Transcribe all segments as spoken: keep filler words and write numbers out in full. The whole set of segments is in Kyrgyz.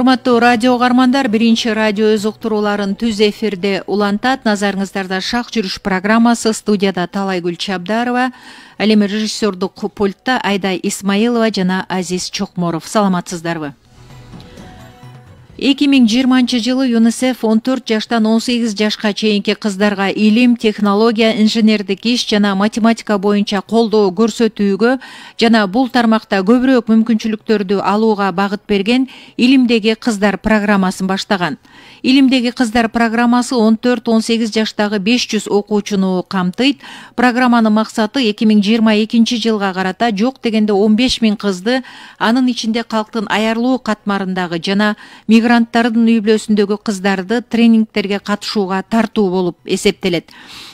Урматтуу радио угармандар, биринчи радио өз уктурууларын түз эфирде улантат. Назарыңыздарда Шак жүрүш программасы. Студияда Талайгүл Чабдарова, ал эми режиссердук пультта Айдай Исмаилова жана Азиз Чокморов. Саламатсыздарбы? эки миң жыйырманчы жылы ЮНИСЕФ он төрт жаштан он сегиз жашка чейинки кыздарга илим, технология, инженердик иш жана математика боюнча колдоо көрсөтүүгө жана бул тармакта көбүрөөк мүмкүнчүлүктөрдү алууга багыт берген Илимдеги кыздар программасын баштаган. Илимдеги кыздар программасы он төрт он сегиз жаштагы беш жүз окуучуну камтыйт. Программанын максаты эки миң жыйырма экинчи жылга карата жок дегенде он беш миң кызды, анын ичинде калктын аярлуу катмарындагы жана мигранттардын үй-бүлөсүндөгү кыздарды тренингтерге катышууга тартуу болуп эсептелет.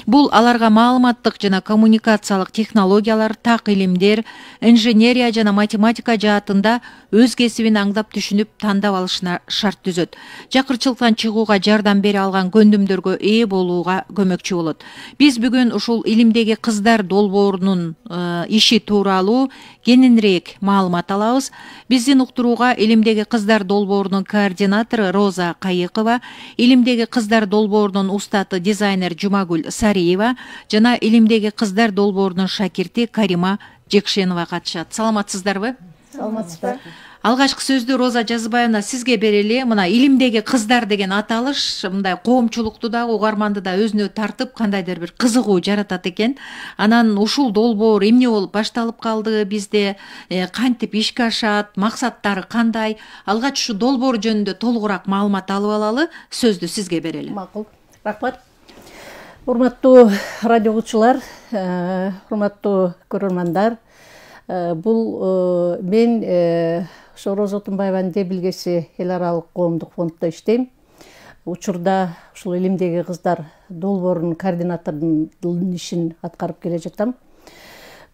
Бул аларга маалыматтык жана коммуникациялык технологиялар, так илимдер, инженерия жана математика жаатында өз кесибин аңдап түшүнүп тандап алышына шарт түзөт. Жакырчылыктан чыгууга жардам бере алган көндүмдөргө ээ болууга көмөкчү болот. Биз бүгүн ушул Илимдеги кыздар долбоорунун э, иши тууралуу кененирээк маалымат алабыз. Биздин уктурууга Илимдеги кыздар долбоорунун координатору Роза Кайыкова, Илимдеги кыздар долбоорунун устаты дизайнер Жумагүл Сариева жана Илимдеги кыздар долбоорунун шакирти Карима Жекшенова катышат. Саламатсыздарбы? Саламатсыздар. Алгачкы сөздү Роза Жазыбаевна сизге берели. Мына Илимдеги кыздар деген аталыш мындай коомчулукту да, угарманды да өзүнө тартып кандайдыр бир кызыгуу жаратат экен. Анан ушул долбоор эмне болуп башталып калды бизде, э, кантип ишке ашат, максаттары кандай? Алгач ушу долбоор жөнүндө толугураак маалымат алып алалы. Сөздү сизге берели. Макул. Рахмат. Урматтуу радио угуучулар, урматтуу көрөрмандар, бул мен ошо Роза Отунбаеванын Дебилгеси эл аралык коомдук фонддо иштейм. Учурда ушул Илимдеги кыздар долбоорунун координаторунун ишин аткарып келе жатам.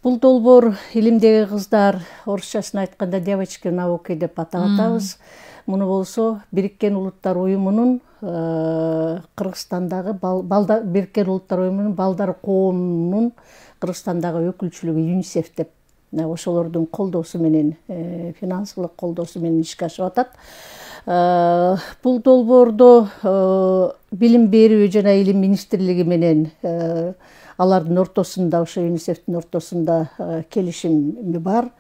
Бул долбоор Илимдеги кыздар, орусчасын айтканда девочки в науке деп атап атабыз. Муну болсо Бириккен Улуттар уюмунун Кыргызстандагы Бириккен Улуттар уюмунун балдар коомунун Кыргызстандагы өкүлчүлүгү ЮНИСЕФ деп ошолордун колдоосу менен, финансылык колдоосу менен ишке ашып атат. Бул долбоордо билим берүү жана илим министрлиги менен алардын ортосунда, ошо ЮНИСЕФтин ортосунда келишим бар.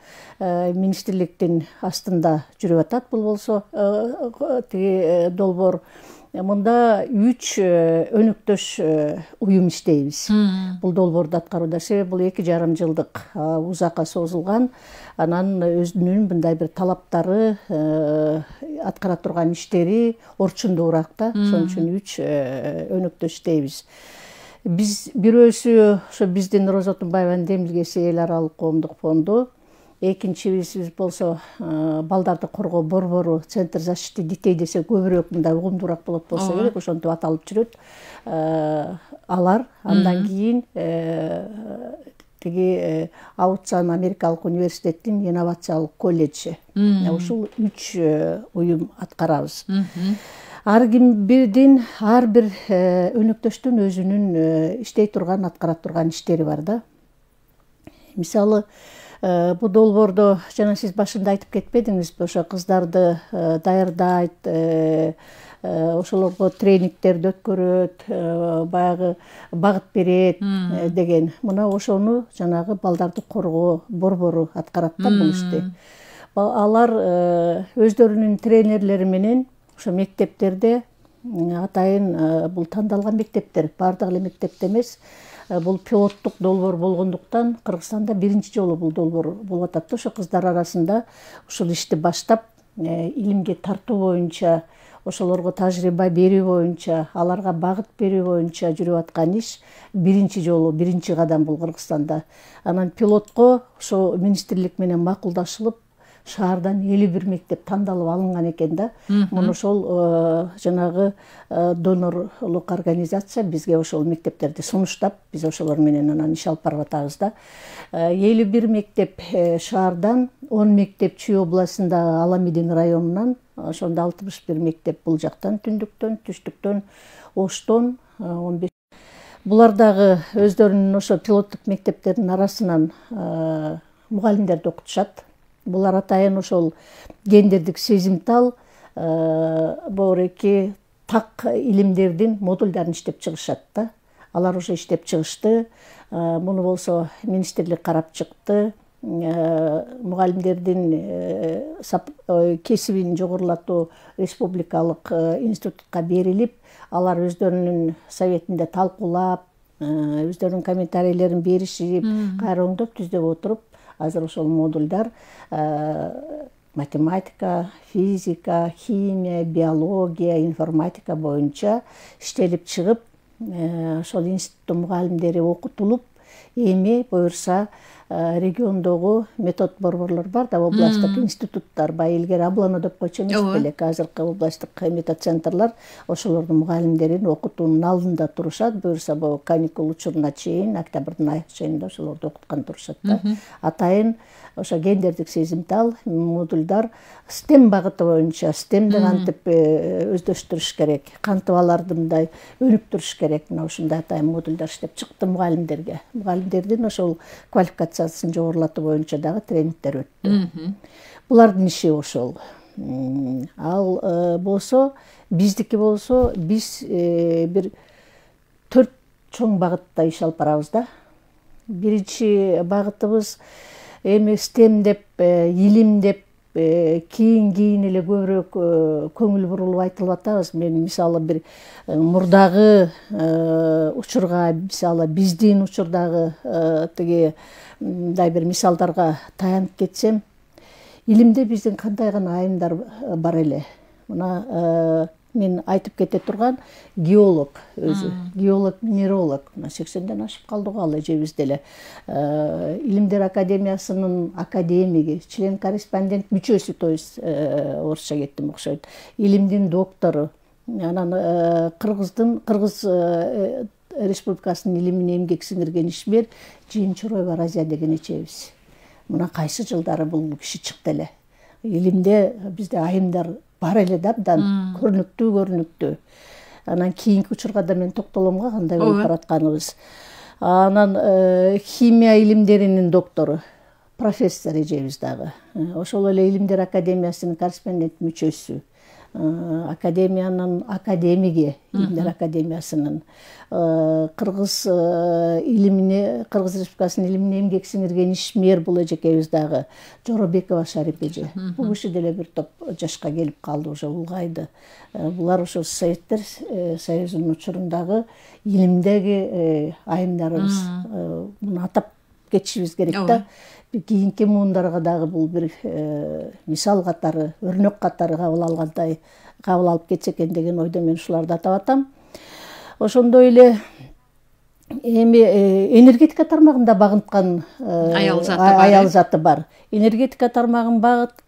Министрликтин астында жүрүп атат. Бул болсо тиги долбоор. Мында үч өнөктөш уюм иштейбиз. Бул долбоорду аткарууда. Себеби бул эки жарым жылдык узакка созулган. Анан өзүнүн мындай бир талаптары, аткара турган иштери орчундуураак да. Ошон үчүн үч өнөктөш иштейбиз. Биз бирөөсү ошо биздин Роза Отунбаеванын Демилгеси эл аралык коомдук фонду, экинчибиз болсо балдарды коргоо борбору, Центр защиты детей десе көбүрөөк мындай угумдуураак болот болсо керек, ошентип аталып жүрөт. Алар андан кийин тиги Аутсан Америкалык университеттин инновациялык колледжи. Ушул үч уюм аткарабыз. Ар ким бирдин, ар бир өнөктөштүн өзүнүн иштей турган, аткара турган иштери бар да. Мисалы, бул долбоордо жана сиз башында айтып кетпедиңизби, ошо кыздарды даярдайт, ошолорго тренингтерди өткөрөт, баягы багыт берет деген. Мына ошону жанагы балдарды коргоо борбору аткарат да бул ишти. Алар өздөрүнүн тренерлери менен ошо мектептерде, атайын бул тандалган мектептер, бардык эле мектепте эмес, бул пилоттук долбоор болгондуктан Кыргызстанда биринчи жолу бул долбоор болуп атат. Ошо кыздар арасында ушул ишти баштап, илимге тартуу боюнча, ошолорго тажрыйба берүү боюнча, аларга багыт берүү боюнча жүрүп аткан иш биринчи жолу, биринчи кадам бул Кыргызстанда. Анан пилотко ошо министрлик менен макулдашылып, шаардан элүү бир мектеп тандалып алынган экен да. Муну ошол жанагы донорлук организация бизге ошол мектептерди сунуштап, биз ошолор менен анан иш алып барып атабыз да. элүү бир мектеп шаардан, он мектеп Чүй областындагы Аламидин районунан, ошондо алтымыш бир мектеп бул жактан, түндүктөн, түштүктөн, Оштон он беш. Булар дагы өздөрүнүн ошо пилоттук мектептердин арасынан мугалимдерди окутушат. Булар атайын ошол гендердик сезимтал, боореки так илимдердин модулдарын иштеп чыгышат да. Алар уже иштеп чыгышты. Муну болсо министрлик карап чыкты. Мугалимдердин кесибин жогорулатуу республикалык институтка берилип, алар өздөрүнүн советинде талкуулап, өздөрүнүн комментарийлерин беришип, кайра оңдоп түздөп отуруп, азыр ошол модулдар математика, физика, химия, биология, информатика боюнча иштелип чыгып, ошол институттун мугалимдери окутулуп, эми буюрса региондогу метод борборлор бар да, областтык институттар, бай илгери Аблано деп койчу эмес белек, азыркы областтык метод центрлар ошолордун мугалимдерин окутуунун алдында турушат. Буюрса бул каникул учуруна чейин, октябрдын аяк ченинде ошолорду окуткан турушат да. Атайын ошо гендердик сезимтал модулдар стем багыты боюнча, стемди кантип өздөштүрүш керек, кантип аларды мындай өнүктүрүш керек, мына ушундай атайын модулдар иштеп чыкты мугалимдерге. Мугалимдердин ошол квалификациясын жогорулатуу боюнча дагы тренингдер өттү. Булардын иши ошол. Ал болсо, биздики болсо, биз бир төрт чоң багытта иш алып барабыз да. Биринчи багытыбыз эми стем деп, илим деп, кийин-кийин эле көбүрөөк көңүл бурулуп айтылып атабыз. Мен мисалы бир мурдагы учурга, мисалы биздин учурдагы тиги мындай бир мисалдарга таянып кетсем, илимде биздин кандай гана айымдар бар эле. Мына мен айтып кете турган геолог өзү, геолог, минералог, мына сексенден ашып калдык ал эжебиз деле. Илимдер академиясынын академиги, член-корреспондент мүчөсү, то есть орусча кеттим окшойт. Илимдин доктору, анан Кыргыздын Кыргыз республикасынын илимине эмгек сиңирген ишмер Жыйынчуроева Разия деген эжебиз. Мына кайсы жылдары бул киши чыкты эле. Илимде бизде айымдар бар эле да, абдан көрүнүктүү көрүнүктүү. Анан кийинки учурга да мен токтолом го кандай болуп баратканыбыз. Анан химия илимдеринин доктору, профессор эжебиз дагы. Ошол эле Илимдер академиясынын корреспондент мүчөсү, академиянын академиги, Илимдер академиясынын, Кыргыз илимине, Кыргыз республикасынын илимине эмгек сиңирген ишмер бул эжекебиз дагы, Жоробекова Шарип эже. Бул киши деле бир топ жашка келип калды, уже улгайды. Булар ошо Советтер Союзунун учурундагы илимдеги айымдарыбыз. Муну атап кетишибиз керек да. Кийинки муундарга дагы бул бир мисал катары, өрнөк катары кабыл алгандай, кабыл алып кетсе экен деген ойдо мен ушуларды атап атам. Ошондой эле эми энергетика тармагында багынткан аял заты бар. Энергетика тармагын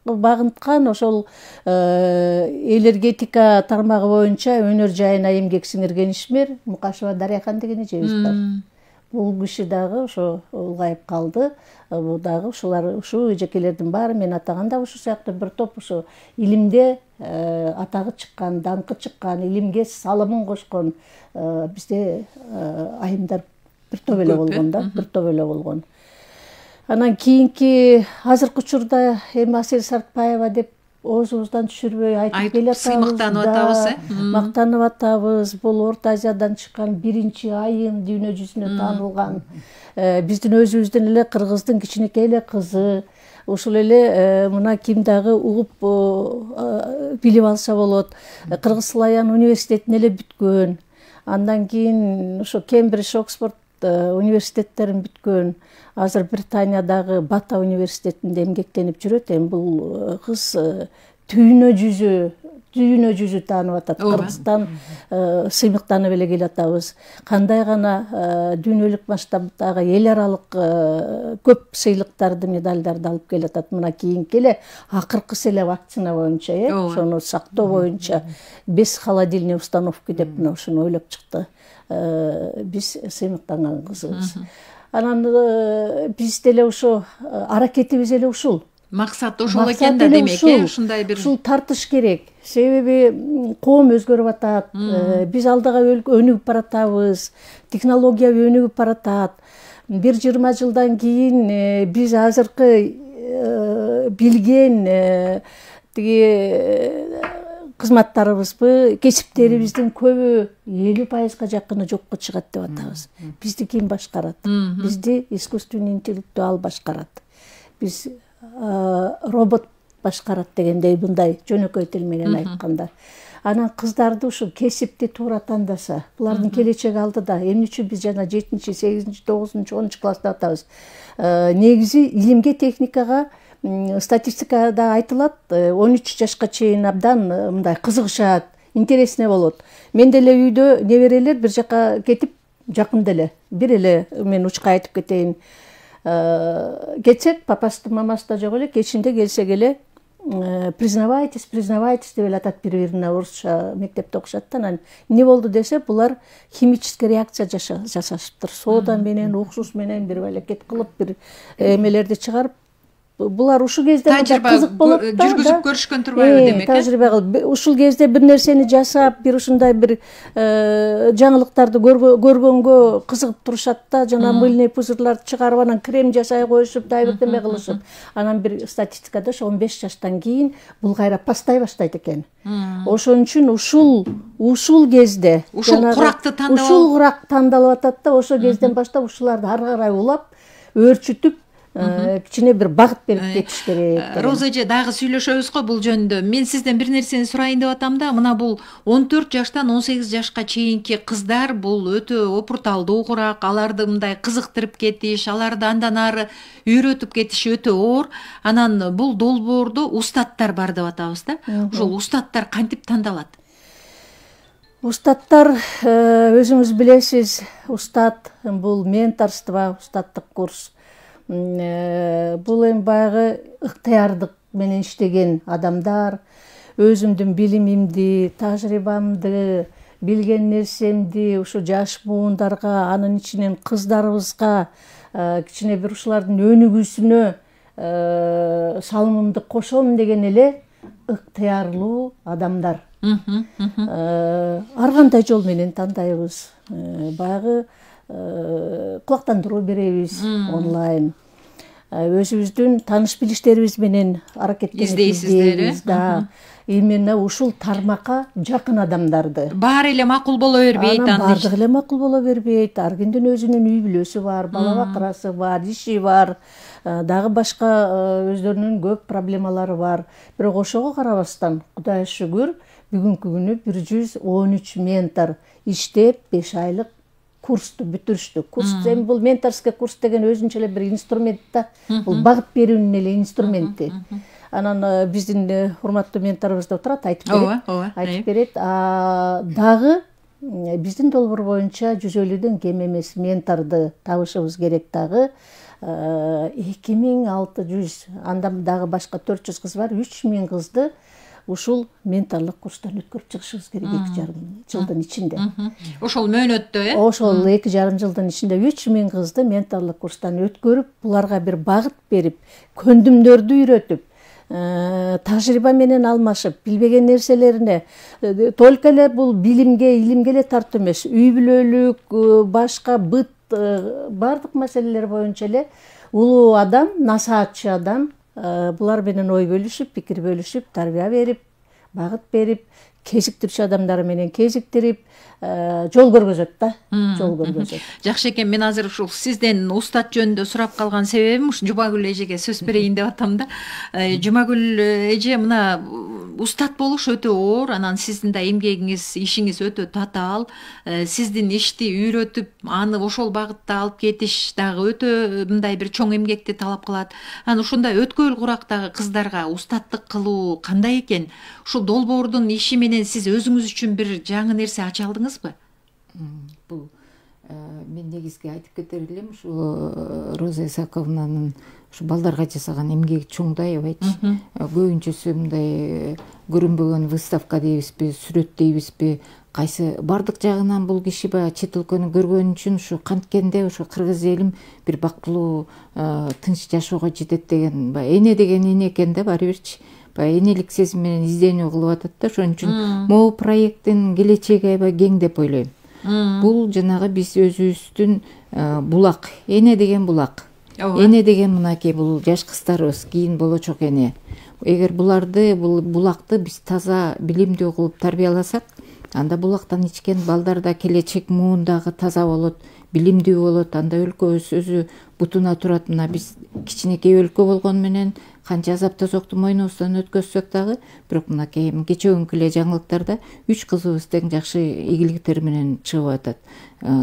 багынткан, ошол энергетика тармагы боюнча өнөр жайына эмгек сиңирген ишмер Мукашева Дарыяхан деген эжебиз бар. Бул киши дагы ошо улгайып калды. Бул дагы ушулар, ушул эжекелердин баары мен атаган да ушул сыяктуу бир топ ошо илимде атагы чыккан, даңкы чыккан, илимге салымын кошкон бизде айымдар бир топ эле болгон да, бир топ эле болгон. Анан кийинки азыркы учурда эми Асель Сартбаева деп оозубуздан түшүрбөй айтып келатабыз. Сыймыктанып атабыз, э? Мактанып атабыз. Бул Орто Азиядан чыккан биринчи айым, дүйнө жүзүнө таанылган. Биздин өзүбүздүн эле Кыргыздын кичинекей эле кызы. Ушул эле мына ким дагы угуп билип алса болот. Кыргыз Славян университетин эле бүткөн. Андан кийин ошо Кембридж, Оксфорд университеттерин бүткөн. Азыр Британиядагы Бата университетинде эмгектенип жүрөт. Эми бул кыз дүйнө жүзү, дүйнө жүзү таанып атат. Кыргызстан сыймыктанып эле келатабыз. Кандай гана дүйнөлүк масштабдагы эл аралык көп сыйлыктарды, медалдарды алып келатат. Мына кийинки эле акыркысы эле вакцина боюнча, э, ошону сактоо боюнча без холодильной установки деп мына ушуну ойлоп чыкты. Биз сыймыктанган кызыбыз. Анан биз деле ошо аракетибиз эле ушул. Максат ошол экен да, демек, э, ушундай бир ушул тартыш керек. Себеби коом өзгөрүп атат, биз алдыга өнүгүп баратабыз, технология өнүгүп баратат. Бир жыйырма жылдан кийин биз азыркы билген тиги кызматтарыбызбы, кесиптерибиздин көбү элүү пайызга жакыны жокко чыгат деп атабыз. Бизди ким башкарат? Бизди искусственный интеллектуал башкарат. Биз робот башкарат дегендей, мындай жөнөкөй тил менен айтканда. Анан кыздарды ушул кесипти туура тандаса, булардын келечеги алдыда. Эмне үчүн биз жана жетинчи, сегизинчи, тогузунчу, онунчу класста атабыз? Негизи илимге, техникага, статистикада айтылат, он үч жашка чейин абдан мындай кызыгышат, интересный болот. Мен деле үйдө неберелер бир жака кетип, жакында эле бир эле мен учка айтып кетейин. Кетсек, папасы мамасы да жок эле, кечинде келсек эле признавайтесь, признавайтесь деп эле атат бири-бирине, орусча мектепте окушат да. Анан эмне болду десе, булар химический реакция жасашыптыр. Сода менен, уксус менен бир аракет кылып, бир эмелерди чыгарып, булар ушул кезде кызык болот да. Жүргүзүп көрүшкөн турбайбы демек? Тажрыйба кылып, ушул кезде бир нерсени жасап, бир ушундай бир жаңылыктарды көргөнгө кызыгып турушат да. Жана мыльный пузырларды чыгарып, анан крем жасай коюшуп, дай бирдеме кылышып. Анан бир статистикада он беш жаштан кийин бул кайра пастай баштайт экен. Ошон үчүн ушул ушул кезде ушул куракты тандалып, ушул курак тандалып атат да. Ошол кезден баштап ушуларды ары карай улап, өөрчүтүп, кичине бир багыт берип кетиш керек. Роза эже, дагы сүйлөшөбүз го бул жөнүндө. Мен сизден бир нерсени сурайын деп атам да. Мына бул он төрт жаштан он сегиз жашка чейинки кыздар бул өтө опурталдуу курак, аларды мындай кызыктырып кетиш, аларды андан ары үйрөтүп кетиш өтө оор. Анан бул долбоордо устаттар бар деп атабыз да. Ошол устаттар кантип тандалат? Устаттар, өзүңүз билесиз, устат бул менторство, устаттык курс. Бул эми баягы ыктыярдык менен иштеген адамдар, өзүмдүн билимимди, тажрыйбамды, билген нерсемди ушу жаш буундарга, анын ичинен кыздарыбызга, кичине бир ушулардын өнүгүүсүнө салымымды кошом деген эле ыктыярлуу адамдар. Ар кандай жол менен тандайбыз. Баягы кулактандыруу беребиз онлайн. Өзүбүздүн тааныш билиштерибиз менен аракеттенебиз да. Именно ушул тармакка жакын адамдарды. Баары эле макул боло бербейт, анан баардыгы эле макул боло бербейт. Ар кимдин өзүнүн үй бүлөсү бар, бала бакырасы бар, иши бар, дагы башка өздөрүнүн көп проблемалары бар. Бирок ошого карабастан, Кудайга шүгүр, бүгүнкү күнү бир жүз он үч ментор иштеп, беш айлык курсту бүтүрүштү. Курс эми бул менторский курс деген өзүнчө эле бир инструмент да. Бул багыт берүүнүн эле инструменти. Анан биздин урматтуу менторубуз да отурат, айтып берет. Айтып берет. Дагы биздин долбоор боюнча жүз элүүдөн кем эмес менторду табышыбыз керек. Дагы эки миң алты жүз, андан дагы башка төрт жүз кыз бар, үч миң кызды ушул менторлук курстан өткөрүп чыгышыбыз керек эки жарым жылдын ичинде. Ошол мөөнөттө, э? Ошол эки жарым жылдын ичинде үч миң кызды менторлук курстан өткөрүп, буларга бир багыт берип, көндүмдөрдү үйрөтүп, тажрыйба менен алмашып, билбеген нерселерине только эле бул билимге, илимге эле тартуу эмес, үй бүлөлүк, башка быт, бардык маселелер боюнча эле улуу адам, насаатчы адам булар менен ой бөлүшүп, пикир бөлүшүп, тарбия берип, багыт берип, кезиктирүүчү адамдары менен кезиктирип, жол көргөзөт да, жол көргөзөт. Жакшы экен, мен азыр ушул сизден устат жөнүндө сурап калган себебим ушу Жумагүл эжеге сөз берейин деп атам да. Жумагүл эже, мына устат болуш өтө оор, анан сиздин да эмгегиңиз, ишиңиз өтө татаал. Сиздин ишти үйрөтүп, аны ошол багытта алып кетиш дагы өтө мындай бир чоң эмгекти талап кылат. Анан ушундай өткөл курактагы кыздарга устаттык кылуу кандай экен? Ушул долбоордун иши менен сиз өзүңүз үчүн бир жаңы нерсе ача алдыңызбы? Бул мен негизги айтып кетер элем, ушу Роза Исаковнанын ушу балдарга жасаган эмгеги чоң да, аябайчы. Көбүнчөсү мындай көрүнбөгөн выставка дейбизби, сүрөт дейбизби, кайсы бардык жагынан бул киши баягы чет өлкөнү көргөн үчүн ушу канткенде ушу кыргыз элим бир бактылуу, тынч жашоого жетет деген, баягы эне деген эне экен да, баары бирчи. Баягы энелик сезим менен изденүү кылып атат да. Ошон үчүн могу проекттин келечеги аябай кең деп ойлойм. Бул жанагы биз өзүбүздүн булак, эне деген булак. Эне деген мынакей бул жаш кыздарыбыз, кийин болочок эне. эгер буларды бул булакты биз таза билимдүү кылып тарбияласак, анда булактан ичкен балдар да келечек муундагы таза болот, билимдүү болот. Анда өлкөбүз өзү бутуна турат. Мына биз кичинекей өлкө болгону менен канча азап тозокту мойнубуздан өткөзсөк дагы, бирок мынакей кечеүнкү эле жаңылыктарда үч кызыбыз тең жакшы ийгиликтер менен чыгып атат,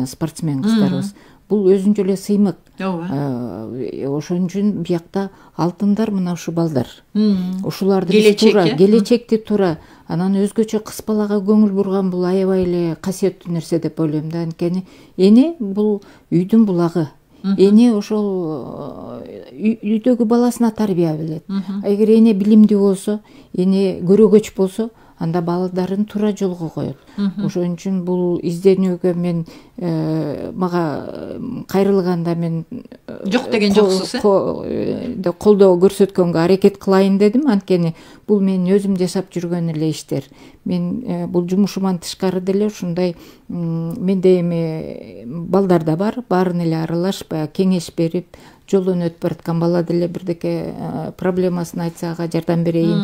спортсмен кыздарыбыз. Бул өзүнчө эле сыймык. Ошон үчүн биякта алтындар мына ушу балдар. Ушуларды туура келечекти туура анан өзгөчө кыз балага көңүл бурган бул аябай эле касиеттүү нерсе деп ойлойм да. Анткени эне бул үйдүн булагы. Эне ошол үйдөгү баласына тарбия берет. Эгер эне билимдүү болсо, эне көрөгөч болсо, анда балдарын туура жолго коет. Ошон үчүн бул изденүүгө мен мага кайрылганда мен жок деген жоксуз, э? Колдоо көрсөткөнгө аракет кылайын дедим. Анткени бул мен өзүм жашап жүргөн эле иштер. Мен бул жумушуман тышкары деле ушундай менде эми балдар да бар, баарын эле аралаш, баягы кеңеш берип, жолдон өтүп бараткан бала деле бирдеке проблемасын айтса ага жардам берейин,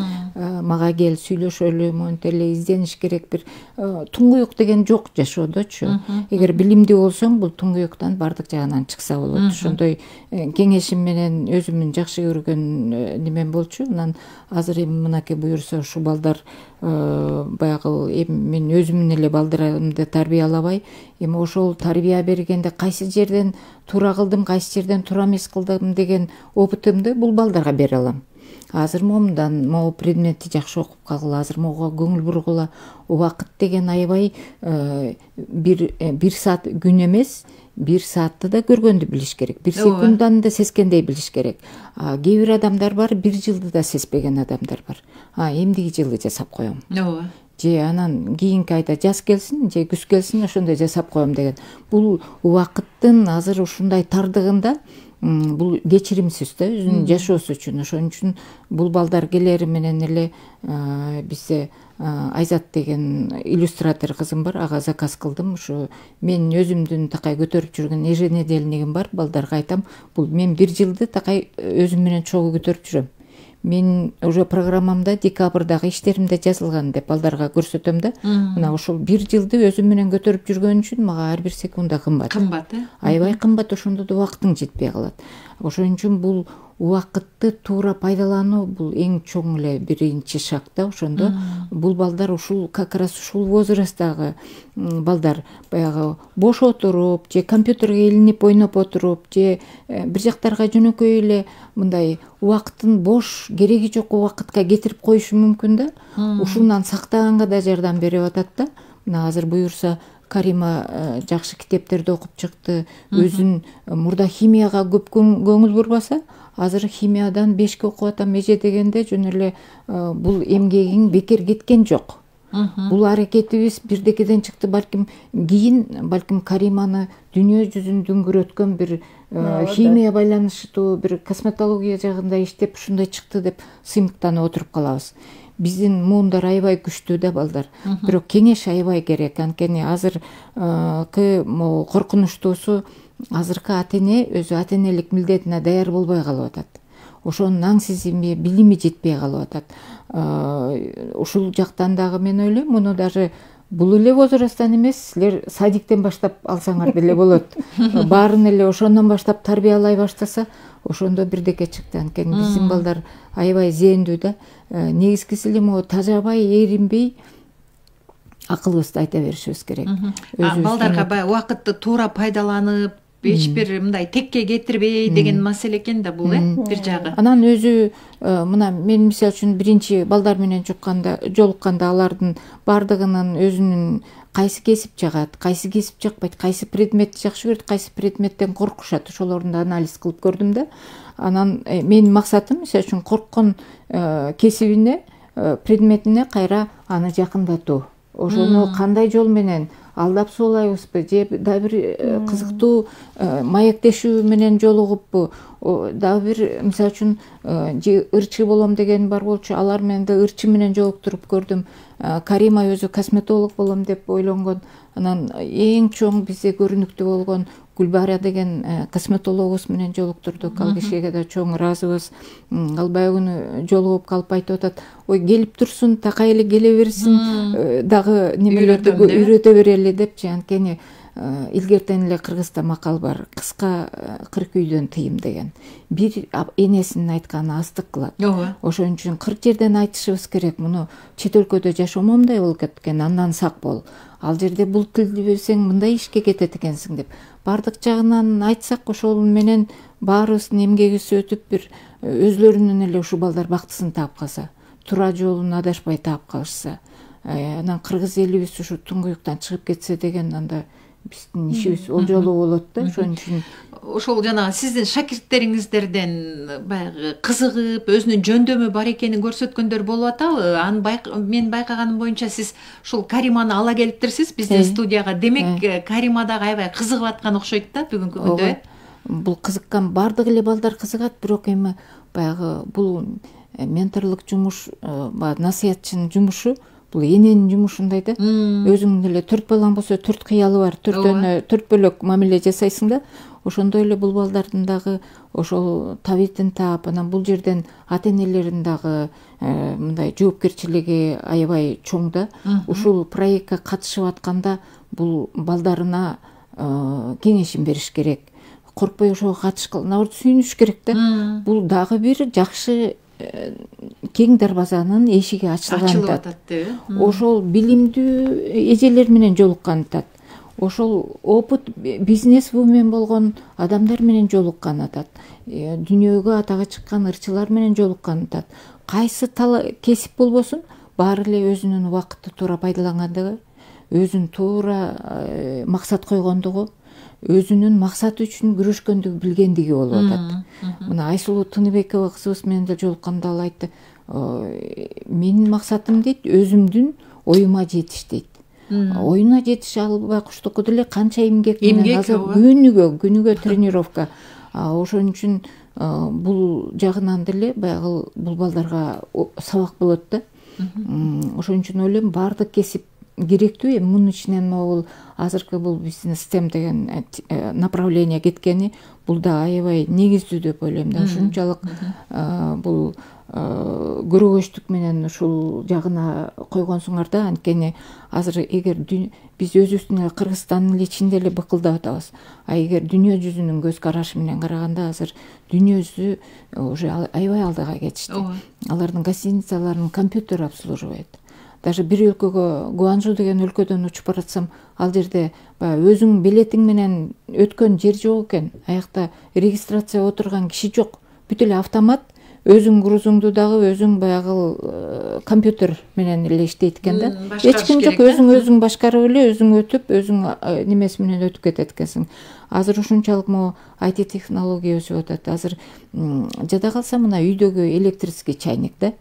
мага кел сүйлөшөлү, монтип эле издениш керек. Бир туңгуюк деген жок жашоодочу. Эгер билимдүү болсоң, бул туңгуюктан бардык жагынан чыкса болот. Ошондой кеңешим менен өзүмдүн жакшы көргөн немем болчу. Анан азыр эми мынакей буюрса ушу балдар баягы эми мен өзүмдүн эле балдарымды тарбиялабай, эми ошол тарбия бергенде кайсы жерден туура кылдым, кайсы жерден туура эмес кылдым деген опытымды бул балдарга бере алам. Азыр момундан могу предметти жакшы окуп калгыла, азыр могуга көңүл бургула. Убакыт деген аябай бир бир саат күн эмес, бир саатты да көргөндү билиш керек. Бир секунданы да сескендей билиш керек. Кээ бир адамдар бар, бир жылды да сезбеген адамдар бар. А эмдиги жылы жасап коем. Ооба. Же анан кийинки айда жаз келсин, же күз келсин, ошондой жасап коем деген. Бул убакыттын азыр ушундай тардыгында бул кечиримсиз да өзүнүн жашоосу үчүн. Ошон үчүн бул балдар келери менен эле бизде Айзат деген иллюстратор кызым бар, ага заказ кылдым. Ушу мен өзүмдүн такай көтөрүп жүргөн еженедельнигим бар. Балдарга айтам, бул мен бир жылды такай өзүм менен чогуу көтөрүп жүрөм. Мен уже программамда декабрдагы иштеримде жазылган деп балдарга көрсөтөм да. Мына ошол бир жылды өзүм менен көтөрүп жүргөн үчүн мага ар бир секунда кымбат. Кымбат, э? Аябай кымбат, ошондо да убактың жетпей калат. Ошон үчүн бул убакытты туура пайдалануу бул эң чоң эле биринчи шаг да. Ошондо бул балдар ушул как раз ушул возрасттагы балдар баягы бош отуруп же компьютерге илинип ойноп отуруп же бир жактарга жөнөкөй эле мындай убакытын бош кереги жок убакытка кетирип коюшу мүмкүн да. Ушундан сактаганга да жардам берип атат да. Мына азыр буюрса Карима жакшы китептерди окуп чыкты. Өзүн мурда химияга көп көңүл бурбаса, азыр химиядан бешке окуп атам эже дегенде жөн эле бул эмгегиң бекер кеткен жок. Бул аракетибиз бирдекеден чыкты. Балким кийин балким Кариманы дүйнө жүзүн дүңгүрөткөн бир химия байланыштуу бир косметология жагында иштеп ушундай чыкты деп сыймыктанып отуруп калабыз. Биздин муундар аябай күчтүү да балдар. Бирок кеңеш аябай керек. Анткени азыркы могу коркунучтуусу азыркы ата-эне өзү ата-энелик милдетине даяр болбой калып атат. Ошонун аңсизими, билими жетпей калып атат. Ушул жактан дагы мен ойлойм, муну даже бул эле возрасттан эмес, силер садиктен баштап алсаңар деле болот. Баарын эле ошондон баштап тарбиялай баштаса, ошондо бирдеке чыкты. Анткени биздин балдар аябай зээндүү да. Негизгиси эле могу тажабай, эринбей акылыбызды айта беришибиз керек. Балдарга баягы убакытты туура пайдаланып, эч бир мындай текке кетирбей деген маселе экен да бул, э, бир жагы. Анан өзү мына мен мисалы үчүн биринчи балдар менен жукканда, жолукканда алардын бардыгынын өзүнүн кайсы кесип жагат, кайсы кесип жакпайт, кайсы предметти жакшы көрөт, кайсы предметтен коркушат, ошолорду анализ кылып көрдүм да. Анан менин максатым мисалы үчүн корккон кесибине, предметине кайра аны жакындатуу. Ошону кандай жол менен алдап суулайбызбы же дагы бир кызыктуу маектешүү менен жолугуппу, дагы бир мисалы үчүн же ырчы болом деген бар болчу, алар менен да ырчы менен жолуктуруп көрдүм. Карима өзү косметолог болом деп ойлонгон. Анан эң чоң бизде көрүнүктүү болгон Гүлбара деген косметологубуз менен жолуктурдук. Ал кишиге да чоң ыраазыбыз. Ал баягы күнү жолугуп калып айтып атат: ой, келип турсун, такай эле келе берсин, дагы немелерди үйрөтө берели депчи. Анткени илгертен эле Кыргызда макал бар: кыска кырк үйдөн тыйым деген. Бир энесинин айтканы астык кылат. Ошон үчүн кырк жерден айтышыбыз керек. Муну чет өлкөдө жашоо момундай болуп кеткен, андан сак бол. Ал жерде бул тилди билсең мындай ишке кетет экенсиң деп. Бардык жагынан айтсак, ошол менен баарыбыздын эмгегибиз өтүп, бир өзлөрүнүн эле ушул балдар бактысын таап калса, туура жолун адашпай таап калышса, анан кыргыз элибиз ушу туңгуюктан чыгып кетсе деген, анда биздин ишибиз ол жолу болот да. Ошон үчүн ошол жанагы сиздин шакирттериңиздерден баягы кызыгып, өзүнүн жөндөмү бар экенин көрсөткөндөр болуп атабы? Аны мен байкаганым боюнча сиз ушул Кариманы ала келиптирсиз биздин студияга. Демек, Карима дагы аябай кызыгып аткан окшойт да бүгүнкү күндө. Бул кызыккан бардык эле балдар кызыгат, бирок эми баягы бул менторлук жумуш, насыятчынын жумушу, бул эненин жумушундай да. Өзүңдүн эле төрт балаң болсо, төрт кыялы бар, төртөөнө төрт бөлөк мамиле жасайсың да. Ошондой эле бул балдардын дагы ошол табитин таап, анан бул жерден ата-энелерин дагы мындай жоопкерчилиги аябай чоң да. Ушул проектке катышып атканда бул балдарына кеңешин бериш керек. Коркпой ошого катышкыла, наоборот сүйүнүш керек да. Бул дагы бир жакшы кең дарбазанын эшиги ачылган атат. Ошол билимдүү эжелер менен жолуккан атат. Ошол опыт бизнес-вумен болгон адамдар менен жолуккан атат. Дүйнөгө атага чыккан ырчылар менен жолуккан атат. Кайсы кесип болбосун, баары эле өзүнүн убакытты туура пайдалангандыгы, өзүн туура максат койгондугу, өзүнүн максаты үчүн күрөшкөндүгү билгендиги болуп атат. Мына Айсулуу Тыныбекова кызыбыз менен да жолукканда ал айтты: менин максатым дейт, өзүмдүн оюма жетиш дейт. Оюна жетиш албай куштуку деле канча эмгек менен азыр күнүгө күнүгө тренировка. Ошон үчүн бул жагынан деле баягы бул балдарга сабак болот да. Ошон үчүн ойлойм, баардык кесип керектүү. Эми мунун ичинен могул азыркы бул биздин STEM деген направление кеткени, бул да аябай негиздүү деп ойлойм да. Ушунчалык бул көрөгөчтүк менен ушул жагына койгонсуңар да. Анткени азыр эгер биз өзүбүздүн эле Кыргызстандын эле ичинде эле быкылдап атабыз. А эгер дүйнө жүзүнүн көз карашы менен караганда, азыр дүйнө жүзү уже аябай алдыга кетишти. Алардын гостиницаларын компьютер обслуживает. Даже бир өлкөгө, Гуанчжу деген өлкөдөн учуп баратсам, ал жерде баягы өзүң билетиң менен өткөн жер жок экен. Аякта регистрация отурган киши жок. Бүт эле автомат. Өзүң грузуңду дагы өзүң баягы компьютер менен эле иштейт экен да. Эч ким жок, өзүң өзүң башкарып эле, өзүң өтүп, өзүң немеси менен өтүп кетет экенсиң. Азыр ушунчалык могу ай ти технология өсүп атат. Азыр жада калса мына үйдөгү электрический чайник да,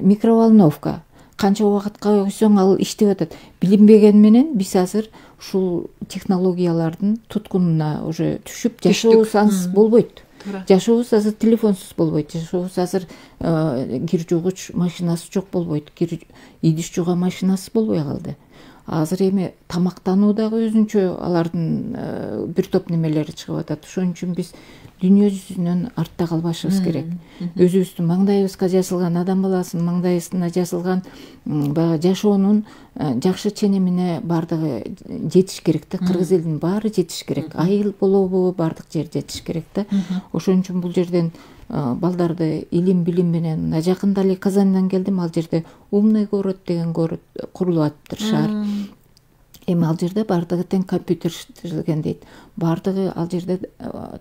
микроволновка. Канча убакытка койсоң ал иштеп атат. Билинбеген менен биз азыр ушул технологиялардын туткунуна уже түшүп жашообуз ансыз болбойт. Жашообуз азыр телефонсуз болбойт. Жашообуз азыр кир жуугуч машинасы жок болбойт. Кир идиш жууган машинасы болбой калды. Азыр эми тамактануу дагы өзүнчө алардын бир топ немелери чыгып атат. Ошон үчүн биз дүйнө жүзүнөн артта калбашыбыз керек. Өзүбүздүн маңдайыбызга жазылган, адам баласынын маңдайына жазылган баягы жашоонун жакшы ченемине бардыгы жетиш керек да. Кыргыз элинин баары жетиш керек. Айыл болобу, бардык жер жетиш керек да. Ошон үчүн бул жерден балдарды илим билим менен, жакында эле Казандан келдим, ал жерде умный город деген город курулуп атыптыр, шаар. Эми ал жерде бардыгы тең компьютерштелген дейт. Бардыгы ал жерде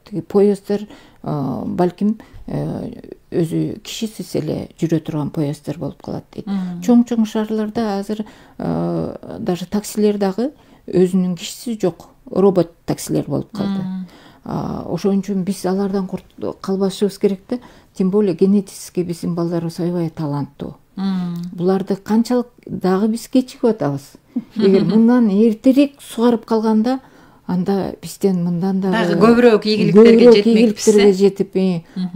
тиги поезддер балким өзү кишисиз эле жүрө турган поезддер болуп калат дейт. Чоң-чоң шаарларда азыр даже таксилер дагы өзүнүн кишиси жок, робот таксилер болуп калды. Ошон үчүн биз алардан калбашыбыз керек да. Тем более генетически биздин балдарыбыз аябай таланттуу. Буларды канчалык дагы биз кечигип атабыз. Эгер мындан эртерээк сугарып калганда, анда бизден мындан дагы көбүрөөк ийгиликтерге жетмекпиз, жетип,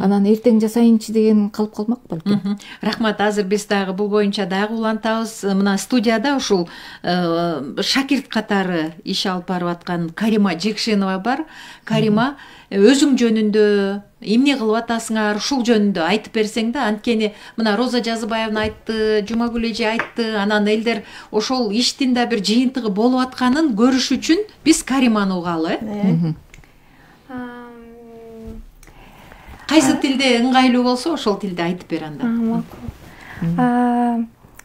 анан эртең жасайынчы деген калып калмак балким. Рахмат. Азыр биз дагы бул боюнча дагы улантабыз. Мына студияда ушул шакирт катары иш алып барып аткан Карима Жекшенова бар. Карима, өзүң жөнүндө эмне кылып атасыңар, ушул жөнүндө айтып берсең да, анткени мына Роза Жазыбаевна айтты, Жумагүл эже айтты, анан элдер ошол иштин да бир жыйынтыгы болуп атканын көрүш үчүн биз Кариманы угалы. Кайсы тилде ыңгайлуу болсо ошол тилде айтып бер анда.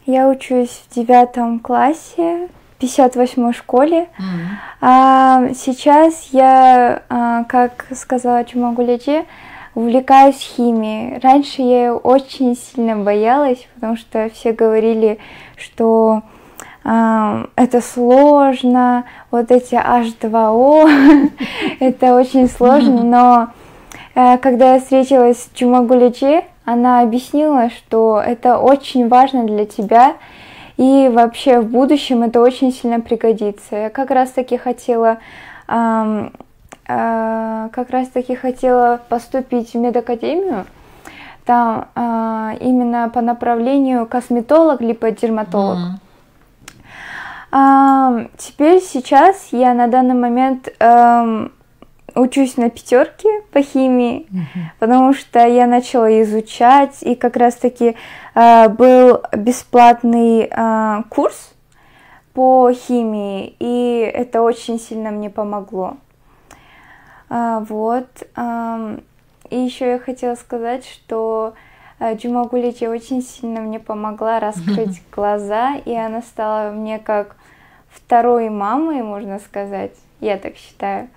Я учусь в девятом классе, в пятьдесят восьмой школе. А сейчас я, а, как сказала Жумагуль, увлекаюсь химией. Раньше я ее очень сильно боялась, потому что все говорили, что а, это сложно, вот эти эйч два о, это очень сложно. Но а, когда я встретилась с Жумагуль, она объяснила, что это очень важно для тебя. И вообще в будущем это очень сильно пригодится. Я как раз таки хотела, э, э, как раз таки хотела поступить в медакадемию, там э, именно по направлению косметолог либо дерматолог. Mm-hmm. э, теперь сейчас я на данный момент э, учусь на пятерке по химии, mm-hmm. потому что я начала изучать, и как раз-таки э, был бесплатный э, курс по химии, и это очень сильно мне помогло. А, вот. А, и еще я хотела сказать, что э, Жумагуль очень сильно мне помогла раскрыть mm-hmm. глаза, и она стала мне как второй мамой, можно сказать, я так считаю.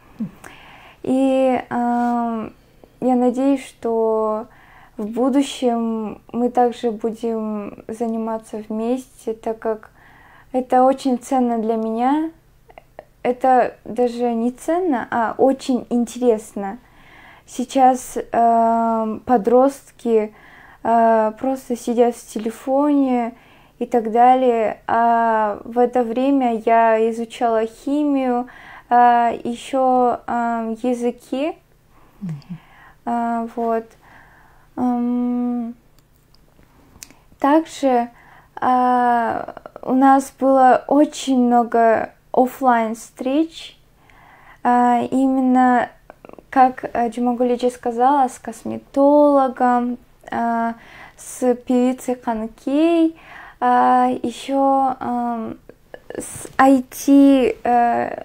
И э, я надеюсь, что в будущем мы также будем заниматься вместе, так как это очень ценно для меня. Это даже не ценно, а очень интересно. Сейчас э, подростки э, просто сидят в телефоне и так далее. А в это время я изучала химию, Uh, еще uh, языки, mm-hmm. uh, вот. Um, также uh, у нас было очень много офлайн встреч, uh, именно, как uh, Жумагуль сказала, с косметологом, uh, с певицей Ханкей, uh, еще um, с ай ти uh,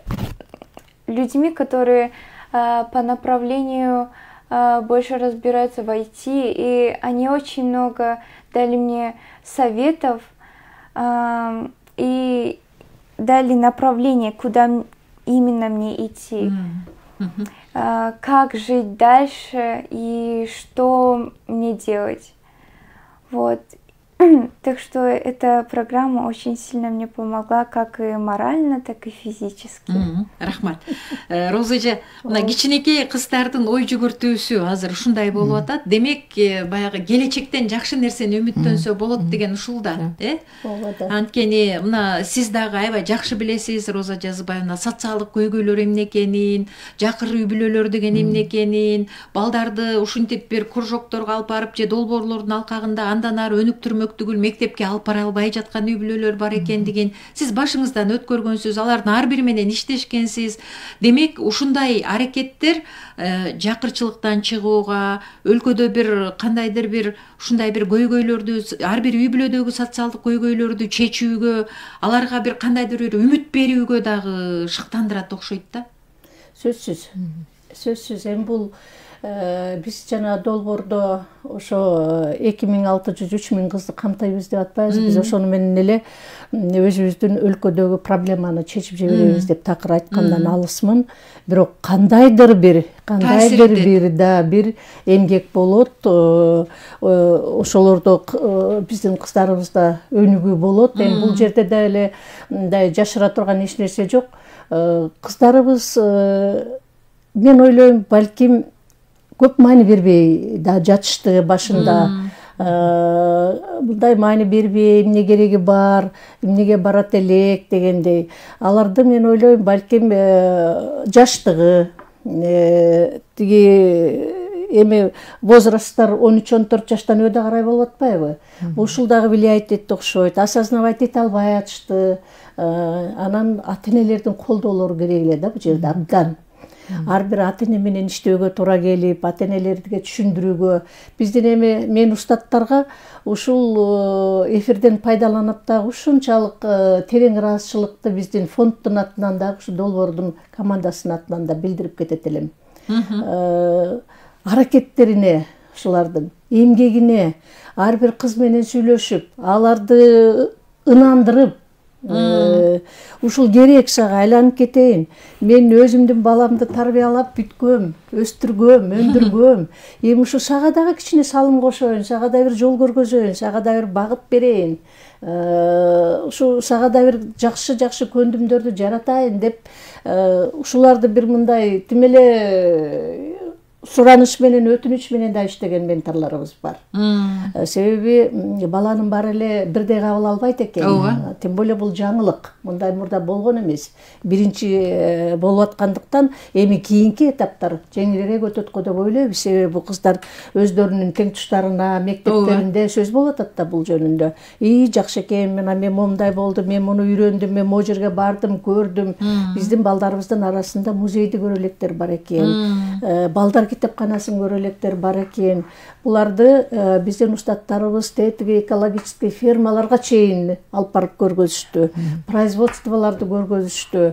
людьми, которые э, по направлению э, больше разбираются в ай ти, и они очень много дали мне советов э, и дали направление, куда именно мне идти, mm-hmm. э, как жить дальше и что мне делать. Вот. Так что эта программа очень сильно мне помогла, как и морально, так и физически. Рахмат. Роза эже, мына кичинекей кыздардын ой жүгүртүүсү азыр ушундай болуп атат. Демек, баягы келечектен жакшы нерсени үмүттөнсө болот деген ушул да, э? Анткени мына сиз дагы аябай жакшы билесиз, Роза Жазыбаевна, социалдык көйгөйлөр эмне экенин, жакыр үй бүлөлөр деген эмне экенин, балдарды ушинтип бир кружокторго алып барып же долбоорлордун алкагында андан ары өнүктүрмөк түгүл мектепке алып бара албай жаткан үй бүлөлөр бар экендигин сиз башыңыздан өткөргөнсүз, алардын ар бири менен иштешкенсиз. Демек, ушундай аракеттер э, жакырчылыктан чыгууга, өлкөдө бир кандайдыр бир ушундай бир көйгөйлөрдү, ар бир үй бүлөдөгү социалдык көйгөйлөрдү чечүүгө, аларга бир кандайдыр бир үмүт берүүгө дагы шыктандырат окшойт да. Сөзсүз. Сөзсүз. Эми бул биз жана долбоордо ошо эки миң алты жүз үч миң кызды камтайбыз деп атпайбыз. Биз ошону менен эле өзүбүздүн өлкөдөгү проблеманы чечип жиберебиз деп такыр айткандан алысмын. Бирок кандайдыр бир кандайдыр бир да бир эмгек болот. Ошолордо биздин кыздарыбызда өнүгүү болот. Эми бул жерде да эле мындай жашыра турган эч нерсе жок. Кыздарыбыз, мен ойлойм, балким көп маани бербей да жатышты башында. мындай маани бербей, эмне кереги бар, эмнеге барат элек дегендей. Аларды мен ойлойм балким жаштыгы, тиги эми возрасттар он үч он төрт жаштан өйдө карай болуп атпайбы? Ушул дагы влияет этти окшойт. Осознавать эте албай атышты. Анан ата-энелердин колдоолору керек эле да бул жерде абдан. Ар бир ата-эне менен иштөөгө туура келип, ата-энелерге түшүндүрүүгө. Биздин эми мен устаттарга ушул эфирден пайдаланып дагы ушунчалык терең ыраазычылыкты биздин фонддун атынан дагы, ушу долбоордун командасынын атынан да билдирип кетет элем. Аракеттерине, ушулардын эмгегине, ар бир кыз менен сүйлөшүп, аларды ынандырып, ушул керек сага, айланып кетейин. Мен өзүмдүн баламды тарбиялап бүткөм, өстүргөм, өндүргөм. Эми ушу сага дагы кичине салым кошоюн, сага да бир жол көргөзөйүн, сага да бир багыт берейин. Ушу сага да бир жакшы-жакшы көндүмдөрдү жаратайын деп, ушуларды бир мындай тим эле сураныш менен, өтүнүч менен да иштеген менторлорубуз бар. Себеби баланын баары эле бирдей кабыл албайт экен. Тем более бул жаңылык. Мындай мурда болгон эмес. Биринчи болуп аткандыктан эми кийинки этаптар жеңилирээк өтөт го деп ойлойбуз. Себеби бул кыздар өздөрүнүн тең туштарына, мектептеринде сөз болуп атат да бул жөнүндө. И жакшы экен, мен момундай болду, мен муну үйрөндүм, мен могу жерге бардым, көрдүм. Биздин балдарыбыздын арасында музейди көрө электер бар экен. Балдар китепканасын көрө электер бар экен. Буларды биздин устаттарыбыз тетиги экологический фермаларга чейин алып барып көргөзүштү. Производстволорду көргөзүштү.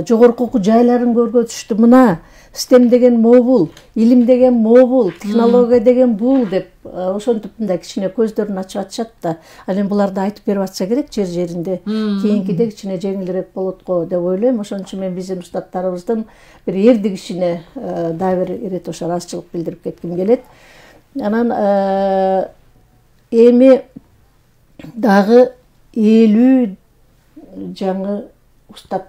Жогорку окуу жайларын көргөзүштү. Мына STEM деген могул, илим деген могул, технология деген бул деп ошентип мындай кичине көздөрүн ачып атышат да. Ал эми буларды айтып берип атса керек жер жеринде. Кийинкиде кичине жеңилирээк болот го деп ойлойм. Ошон үчүн мен биздин устаттарыбыздын бир эрди кишине дагы бир ирет ошо ыраазычылык билдирип кетким келет. Анан эми дагы элүү жаңы устат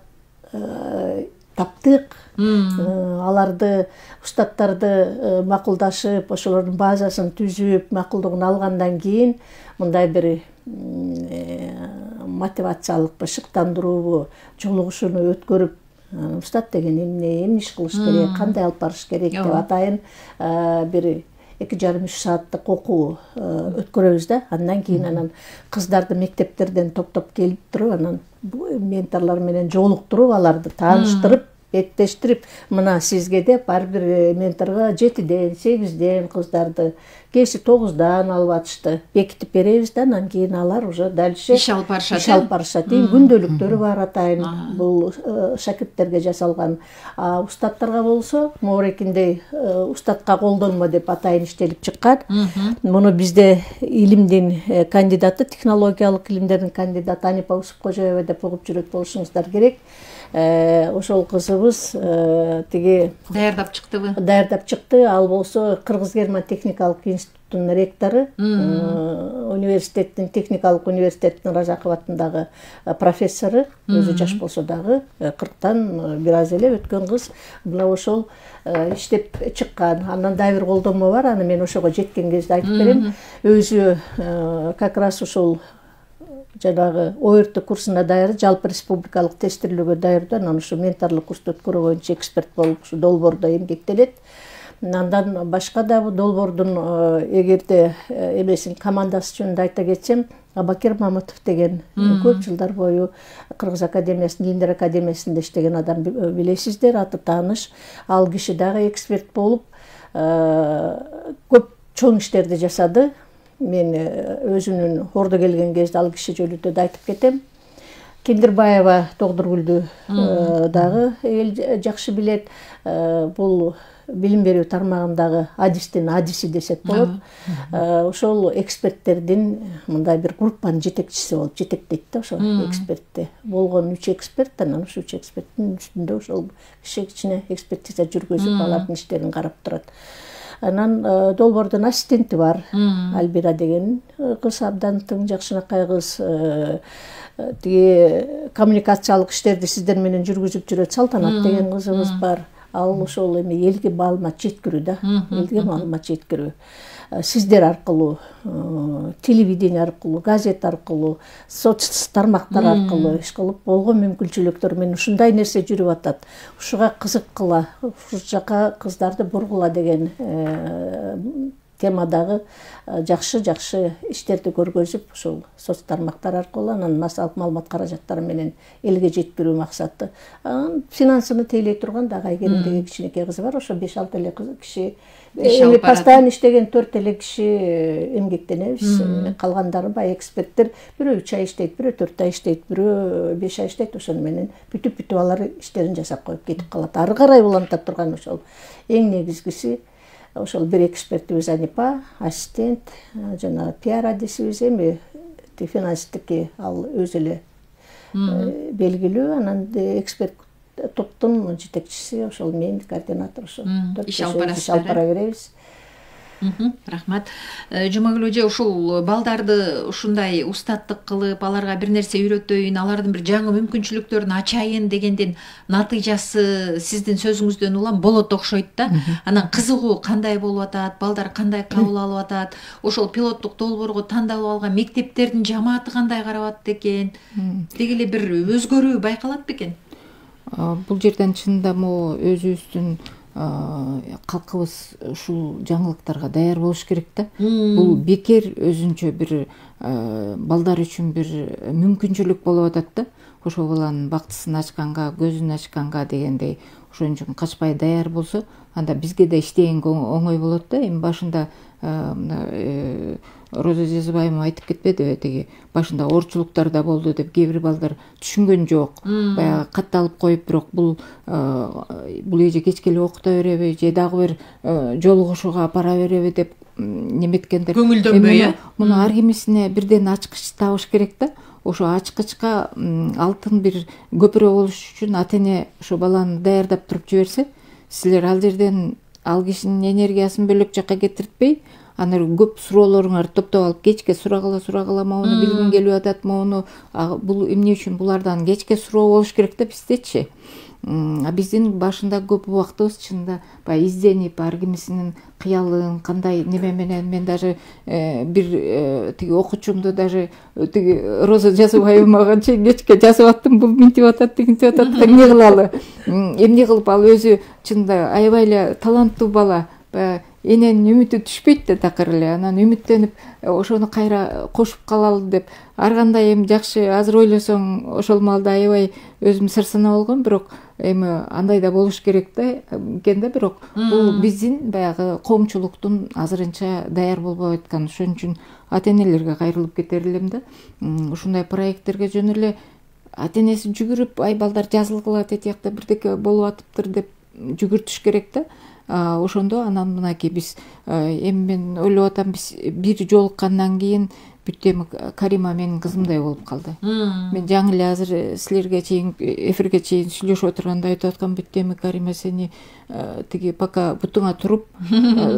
таптык. Аларды, устаттарды макулдашып, ошолордун базасын түзүп, макулдугун алгандан кийин мындай бир мотивациялык бышыктандыруубу, жолугушууну өткөрүп, устат деген эмне, эмне иш кылыш керек, кандай алып барыш керек деп атайын бир эки жарым үч сааттык окуу өткөрөбүз да. Андан кийин анан кыздарды мектептерден топтоп келип туруп, анан менторлор менен жолуктуруп, аларды тааныштырып, беттештирип, мына сизге деп ар бир менторго жетиден, сегизден кыздарды, кээси тогуздан алып атышты. Бекитип беребиз да, анан кийин алар уже дальше иш алып барышат. Иш алып барышат. Күндөлүктөрү бар атайын. Бул шакирттерге жасалган. Устаттарга болсо, моорекиндей устатка колдонмо деп атайын иштелип чыккан. Муну бизде илимдин кандидаты, технологиялык илимдердин кандидаты Анипа Усупкожоева деп угуп жүрөт болушуңуздар керек. Ошол кызыбыз тиги даярдап чыктыбы? Даярдап чыкты. Ал болсо Кыргыз-Герман техникалык институттунун ректору, университеттин, техникалык университеттин Ражаков атындагы профессору, өзү жаш болсо дагы кырктан бир аз эле өткөн кыз. Мына ошол иштеп чыккан. Андан дагы бир колдонмо бар, аны мен ошого жеткен кезде айтып берем. Өзү как раз ушул жанагы ОРТ курсуна даяры, жалпы республикалык тестирлөөгө даярдоо, анан ушу менторлук курсту өткөрүү боюнча эксперт болуп ушу долбоордо эмгектелет. Андан башка да бул долбоордун эгерде эмесин командасы жөнүндө айта кетсем, Абакер Мамытов деген көп жылдар бою Кыргыз академиясынын, Илимдер академиясында иштеген адам билесиздер, аты тааныш. Ал киши дагы эксперт болуп көп чоң иштерди жасады. Мен өзүнүн ордо келген кезде ал киши жөнүндө да айтып кетем. Кендирбаева Тогдургүлдү дагы эл жакшы билет. Бул билим берүү тармагындагы адистин адиси десек болот. Ошол эксперттердин мындай бир группанын жетекчиси болуп жетектейт да ошо экспертти. Болгон үч эксперт, анан ушу үч эксперттин үстүндө ошол киши кичине экспертиза жүргүзүп алардын иштерин карап турат. Анан долбоордун ассистенти бар, Альбира деген кыз, абдан тың жакшынакай кыз. Тиги коммуникациялык иштерди сиздер менен жүргүзүп жүрөт Салтанат деген кызыбыз бар. ал ошол эми элге маалымат жеткирүү да, элге маалымат жеткирүү. Сиздер аркылуу, телевидение аркылуу, газет аркылуу, соц тармактар аркылуу иш кылып болгон мүмкүнчүлүктөр менен ушундай нерсе жүрүп атат. Ушуга кызыккыла, ушул жака кыздарды бургула деген темадагы жакшы-жакшы иштерди көргөзүп, ушул соц тармактар аркылуу анан маалымат каражаттары менен элге жеткирүү максаты. Финансыны тейлей турган дагы Айгерим деген кичинекей кыз бар, ошо беш алты эле киши эми постоянно иштеген төрт эле киши эмгектенебиз. Калгандары баягы эксперттер, бирөө үч ай иштейт, бирөө төрт ай иштейт, бирөө беш ай иштейт. Ошону менен бүтүп-бүтүп алар иштерин жасап коюп кетип калат. Ары карай уланта турган ошол эң негизгиси ошол бир экспертибиз Анипа, ассистент, жана пиар адисибиз, эми финанстики ал өзү эле белгилүү, анан эксперт топтун жетекчиси ошол мен, координатор, ошол иш алып барасыздар. Иш алып бара беребиз. Рахмат. Жумагүл эже, ушул балдарды ушундай устаттык кылып, аларга бир нерсе үйрөтөйүн, алардын бир жаңы мүмкүнчүлүктөрүн ачайын дегендин натыйжасы сиздин сөзүңүздөн улам болот окшойт да. Анан кызыгуу кандай болуп атат, балдар кандай кабыл алып атат, ошол пилоттук долбоорго тандалып алган мектептердин жамааты кандай карап атат экен, деги эле бир өзгөрүү байкалат бекен? Бул жерден чынында могу өзүбүздүн калкыбыз ушул жаңылыктарга даяр болуш керек да. Бул бекер өзүнчө бир балдар үчүн бир мүмкүнчүлүк болуп атат да. Ошол баланын бактысын ачканга, көзүн ачканга дегендей, ошон үчүн качпай даяр болсо, анда бизге да иштегенге оңой болот да. Эми башында Роза Жазыбаева айтып кетпедиби, теги башында оорчулуктар да болду деп, кээ бир балдар түшүнгөн жок. Баягы катталып коюп, бирок бул бул эже кечке эле окута береби, же дагы бир жолугушууга апара береби деп неметкендер. Көңүлдөнбөй, э? Муну ар кимисине бирден ачкыч табыш керек да. Ошо ачкычка алтын бир көпүрө болуш үчүн ата-эне ошо баланы даярдап туруп жиберсе, силер ал жерден ал кишинин энергиясын бөлөк жакка кетиртпей, анан көп суроолоруңарды топтоп алып, кечке сурагыла сурагыла моуну билгим келип атат, моуну бул эмне үчүн, булардан кечке суроо болуш керек да биздечи. Биздин башында көп убактыбыз чынында баягы изденип, ар кимисинин кыялын кандай неме менен, мен даже бир тиги окуучумду даже тиги Роза Жазыбаева мага кечке жазып аттым, бул минтип атат, тигинтип атат, эмне кылалы, эмне кылып, ал өзү чынында аябай эле таланттуу бала, баягы эненин үмүтү түшпөйт да такыр эле, анан үмүттөнүп ошону кайра кошуп калалы деп, ар кандай эми жакшы азыр ойлосоң ошол маалда аябай өзүм сырсына болгом, бирок эми андай да болуш керек да экен да, бирок бул биздин баягы коомчулуктун азырынча даяр болбой аткан. Ошон үчүн ата-энелерге кайрылып кетер элем да. Ушундай проекттерге жөн эле ата-энеси жүгүрүп, ай балдар жазылгыла, тетиякта бирдеке болуп атыптыр деп жүгүртүш керек да. Ошондо анан мынакей биз эми мен ойлоп атам, биз бир жолуккандан кийин бүт эми Карима менин кызымдай болуп калды. Мен жаңы эле азыр силерге чейин эфирге чейин сүйлөшүп отурганда айтып аткам, бүт эми Карима сени тиги пока бутуңа туруп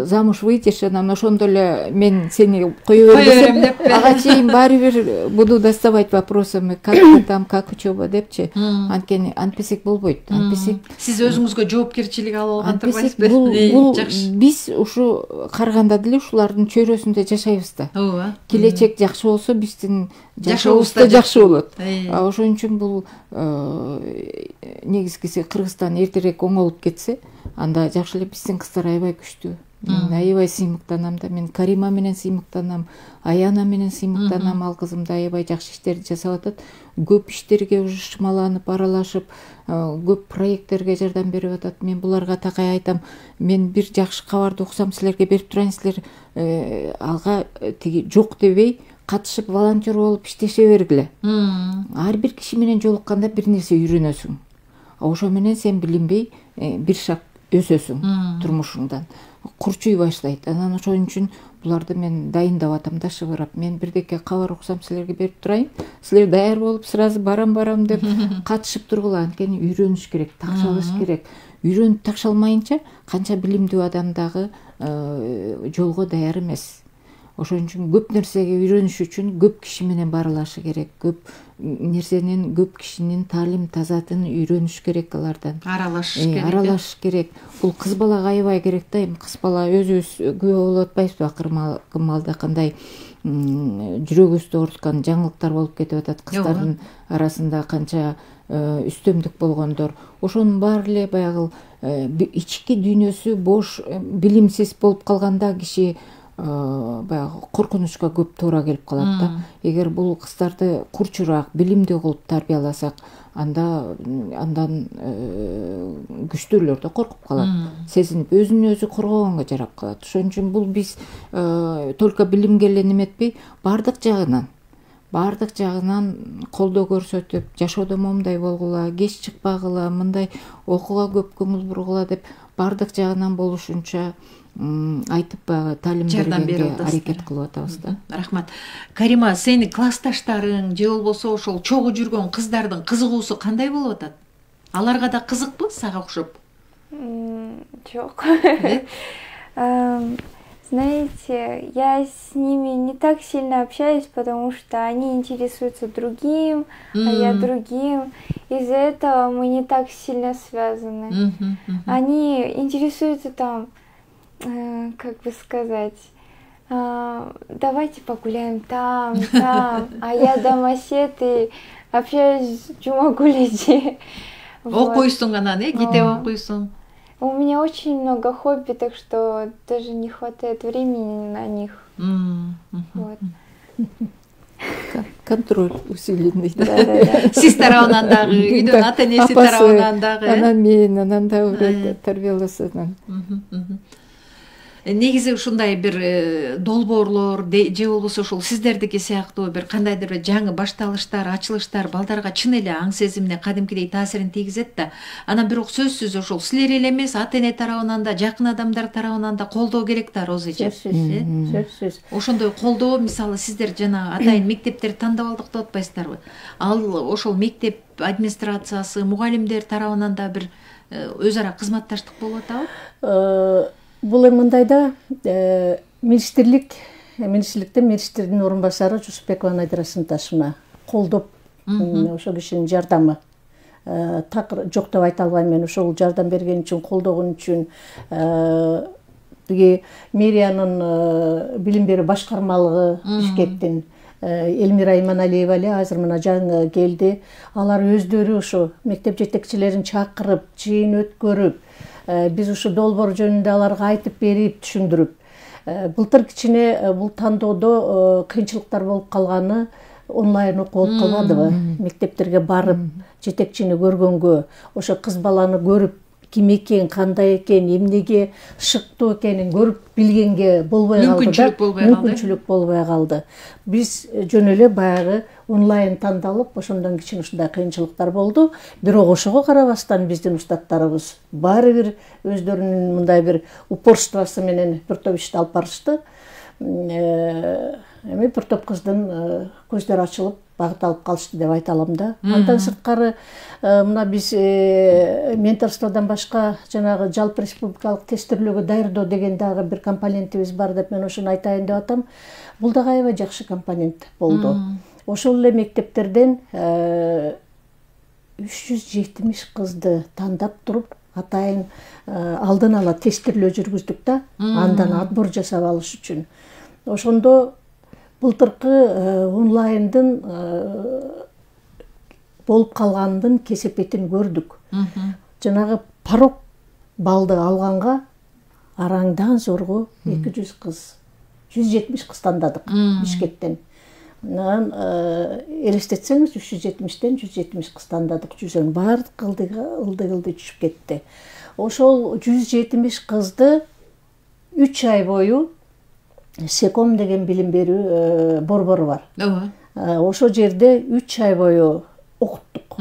замуж выйдешь, анан ошондо эле мен сени кое берем деп, ага чейин баары бир буду доставать вопросами, как ты там, как учеба депчи. Анткени антпесек болбойт. Антпесек сиз өзүңүзгө жоопкерчилик алып алган турбайсызбы? Бул биз ушу карыганда деле ушулардын чөйрөсүндө жашайбыз да. Ооба. Келечек жакшы болсо биздин жашообуз да жакшы болот. Ошон үчүн бул негизгиси Кыргызстан эртерээк оңолуп кетсе, анда жакшы эле. Биздин кыздар аябай күчтүү. Мен аябай сыймыктанам да, мен Карима менен сыймыктанам, Аяна менен сыймыктанам. Ал кызым да аябай жакшы иштерди жасап атат. Көп иштерге уже шымаланып, аралашып, көп проекттерге жардам берип атат. Мен буларга такай айтам, мен бир жакшы кабарды уксам силерге берип турайын, силер ага тиги жок дебей катышып волонтер болуп иштеше бергиле. Ар бир киши менен жолукканда бир нерсе үйрөнөсүң. Ошо менен сен билинбей бир шаг өсөсүң турмушуңдан. Курчуй баштайт. Анан ошон үчүн буларды мен дайындап атам да, шыбырап. Мен бирдеке кабар уксам силерге берип турайын. Силер даяр болуп сразу барам барам деп катышып тургула. Анткени үйрөнүш керек, такшалыш керек. Үйрөнүп такшалмайынча канча билимдүү адам дагы жолго даяр эмес. ошон үчүн көп нерсеге үйрөнүш үчүн көп киши менен баралашы керек, көп нерсенин, көп кишинин таалим тазатын үйрөнүш керек, алардан аралашыш керек. Аралашыш керек. Бул кыз балага аябай керек да. Эми кыз бала өзүбүз күбө болуп атпайбызбы, акыркы маалда кандай жүрөгүбүздү ооруткан жаңылыктар болуп кетип атат, кыздардын арасында канча үстөмдүк болгондор. Ошонун баары эле баягы ички дүйнөсү бош, билимсиз болуп калганда киши баягы коркунучка көп туура келип калат да. Эгер бул кыздарды курчураак, билимдүү кылып тарбияласак, анда андан күчтүүлөр да коркуп калат, сезинип өзүн өзү коргогонго жарап калат. Ошон үчүн бул биз только билимге эле неметпей, баардык жагынан баардык жагынан колдоо көрсөтүп, жашоодо моундай болгула, кеч чыкпагыла, мындай окууга көп көңүл бургула деп баардык жагынан болушунча айтып баягы таалим бергенге аракет кылып атабыз да. Рахмат. Карима, сенин классташтарың же болбосо ошол чогуу жүргөн кыздардын кызыгуусу кандай болуп атат? Аларга да кызыкпы сага окшоп? Жок. Знаете, я с ними не так сильно общаюсь, потому что они интересуются другим, mm-hmm. а я другим. Из-за этого мы не так сильно связаны. Mm-hmm. Mm-hmm. Они интересуются там, э, как бы сказать, э, давайте погуляем там, там, а я домосед и общаюсь с Джумагулиди. Окуйсуң анан, э, китеп окуйсуң. У меня очень много хобби, так что даже не хватает времени на них. Mm-hmm. Вот. Контроль усиленный. Сиз тарабынан дагы, үйдөн ата энеси тарабынан дагы. Анан мен, анан дагы тарбияласынан. Негизи ушундай бир долбоорлор же болбосо ушул сиздердики сыяктуу бир кандайдыр бир жаңы башталыштар, ачылыштар балдарга чын эле аң сезимине кадимкидей таасирин тийгизет да. Анан бирок сөзсүз ошол силер эле эмес, ата эне тарабынан да, жакын адамдар тарабынан да колдоо керек да, Розыжа. Сөзсүз. Ошондой колдоо, мисалы сиздер жана атайын мектептерди тандап алдык деп атпайсыздарбы? Ал ошол мектеп администрациясы, мугалимдер тарабынан да бир өз ара кызматташтык болуп атабы? Бул эми мындайда министрлик, министрликтен министрдин орун басары Жусупбекова Надира Сынташевна колдоп, ошол кишинин жардамы так жок деп айта албайм мен. Ошол жардам берген үчүн, колдогон үчүн тиги мэриянын билим берүү башкармалыгы Бишкектин Элмира Иманалиева эле азыр мына жаңы келди. Алар өздөрү ошо мектеп жетекчилерин чакырып, жыйын өткөрүп, биз ушу долбоор жөнүндө аларга айтып берип, түшүндүрүп. Былтыр кичине бул тандоодо кыйынчылыктар болуп калганы, онлайн окуу болуп калбадыбы? Мектептерге барып, жетекчини көргөнгө, ошо кыз баланы көрүп, ким экен, кандай экен, эмнеге шыктуу экенин көрүп билгенге болбой калды да. Мүмкүнчүлүк болбой калды. Биз жөн эле баягы онлайн тандалып, ошондон кичине ушундай кыйынчылыктар болду. Бирок ошого карабастан биздин устаттарыбыз баары бир өздөрүнүн мындай бир упорствосу менен бир топ ишти алып барышты. Эми бир топ кыздын көздөрү ачылып, багыт алып калышты деп айта алам да. Андан сырткары мына биз менторстводон башка жанагы жалпы республикалык тестирлөөгө даярдоо деген дагы бир компонентибиз бар деп мен ошону айтайын деп атам. Бул дагы аябай жакшы компонент болду. Ошол эле мектептерден үч жүз жетимиш кызды тандап туруп, атайын алдын ала тестирлөө жүргүздүк да, андан отбор жасап алыш үчүн. Ошондо былтыркы онлайндын болуп калгандын кесепетин көрдүк. Жанагы порог балды алганга араңдан зорго эки жүз кыз, жүз жетимиш кыз тандадык Бишкектен. Анан элестетсеңиз үч жүз жетимиштен жүз жетимиш кыз тандадык, жүзөн баардык ылдый-ылдый түшүп кетти. Ошол жүз жетимиш кызды үч ай бою Секом деген билим берүү борбору бар. Ооба. Ошол жерде үч ай бою окуттук.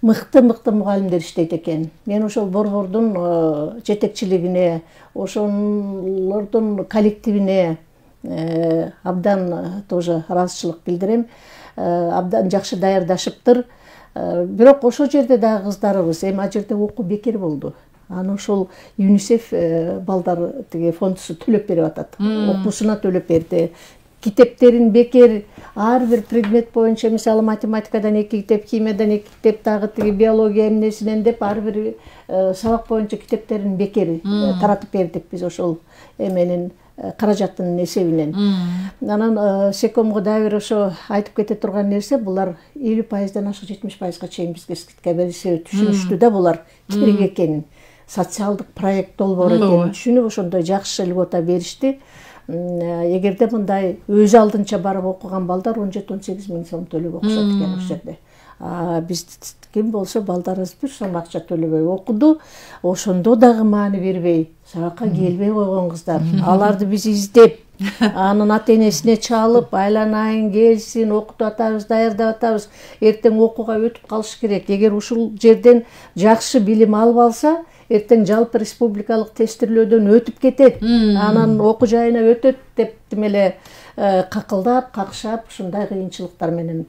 Мыкты-мыкты мугалимдер иштейт экен. Мен ошол борбордун жетекчилигине, ошолордун коллективине абдан тоже ыраазычылык билдирем. Абдан жакшы даярдашыптыр. Бирок ошол жерде дагы кыздарыбыз, эми ал жерде окуу бекер болду. аны ошол ЮНИСЕФ балдар тиги фондусу төлөп берип атат. Окуусуна төлөп берди. Китептерин бекер ар бир предмет боюнча, мисалы математикадан эки китеп, химиядан эки китеп, дагы тиги биология эмнесинен деп ар бир сабак боюнча китептерин бекер таратып бердик биз ошол эменин каражаттын эсебинен. Анан Секомго дагы бир ошо айтып кете турган нерсе, булар элүү пайыздан ашык жетимиш пайызга чейин бизге скидка бериши түшүнүштү да, булар керек экенин, социалдык проект долбоор экенин түшүнүп ошондой жакшы льгота беришти. Эгерде мындай өз алдынча барып окуган балдар он жети он сегиз миң сом төлөп окушат экен ошол жерде. А биз ким болсо балдарыбыз бир сом акча төлөбөй окуду, ошондо дагы маани бербей сабакка келбей койгон кыздар. Аларды биз издеп, анын ата энесине чалып, айланайын, келсин, окутуп атабыз, даярдап атабыз, эртең окууга өтүп калыш керек. Эгер ушул жерден жакшы билим алып алса, эртең жалпы республикалык тестирлөөдөн өтүп кетет, анан окуу жайына өтөт деп демеле какылдап, какшап, ушундай кыйынчылыктар менен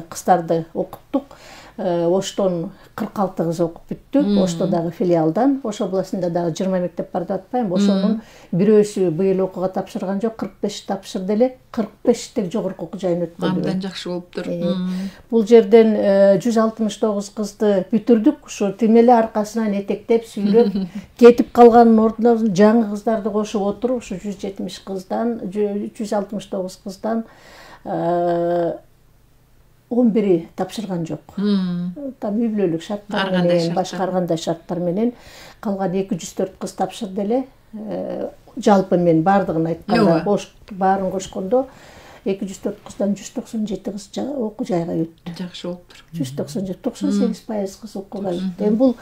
кыздарды окуттук. Оштон кырк алты кыз окуп бүттү. Ошто дагы филиалдан, Ош областында дагы жыйырма мектеп бар деп атпайм. Ошонун бирөөсү быйыл окууга тапшырган жок, кырк беш тапшырды эле, кырк бештек жогорку окуу жайын өткөрдү. Абдан жакшы болуптур. Бул жерден жүз алтымыш тогуз кызды бүтүрдүк. Ушу тимеле аркасынан этектеп, сүйрөп, кетип калганын ордуна жаңы кыздарды кошуп отуруп, ушу жүз жетимиш кыздан, жүз алтымыш тогуз кыздан он бири тапшырган жок. Там үй бүлөлүк шарттар менен, башка кандай шарттар менен калган эки жүз төрт кыз тапшырды эле. Жалпы мен бардыгын айтканда, баарын кошкондо эки жүз төрт кыздан жүз токсон жети кыз окуу жайга өттү. Жакшы болуптур. жүз токсон жети, токсон сегиз пайыз кыз окууга өттү. Эми бул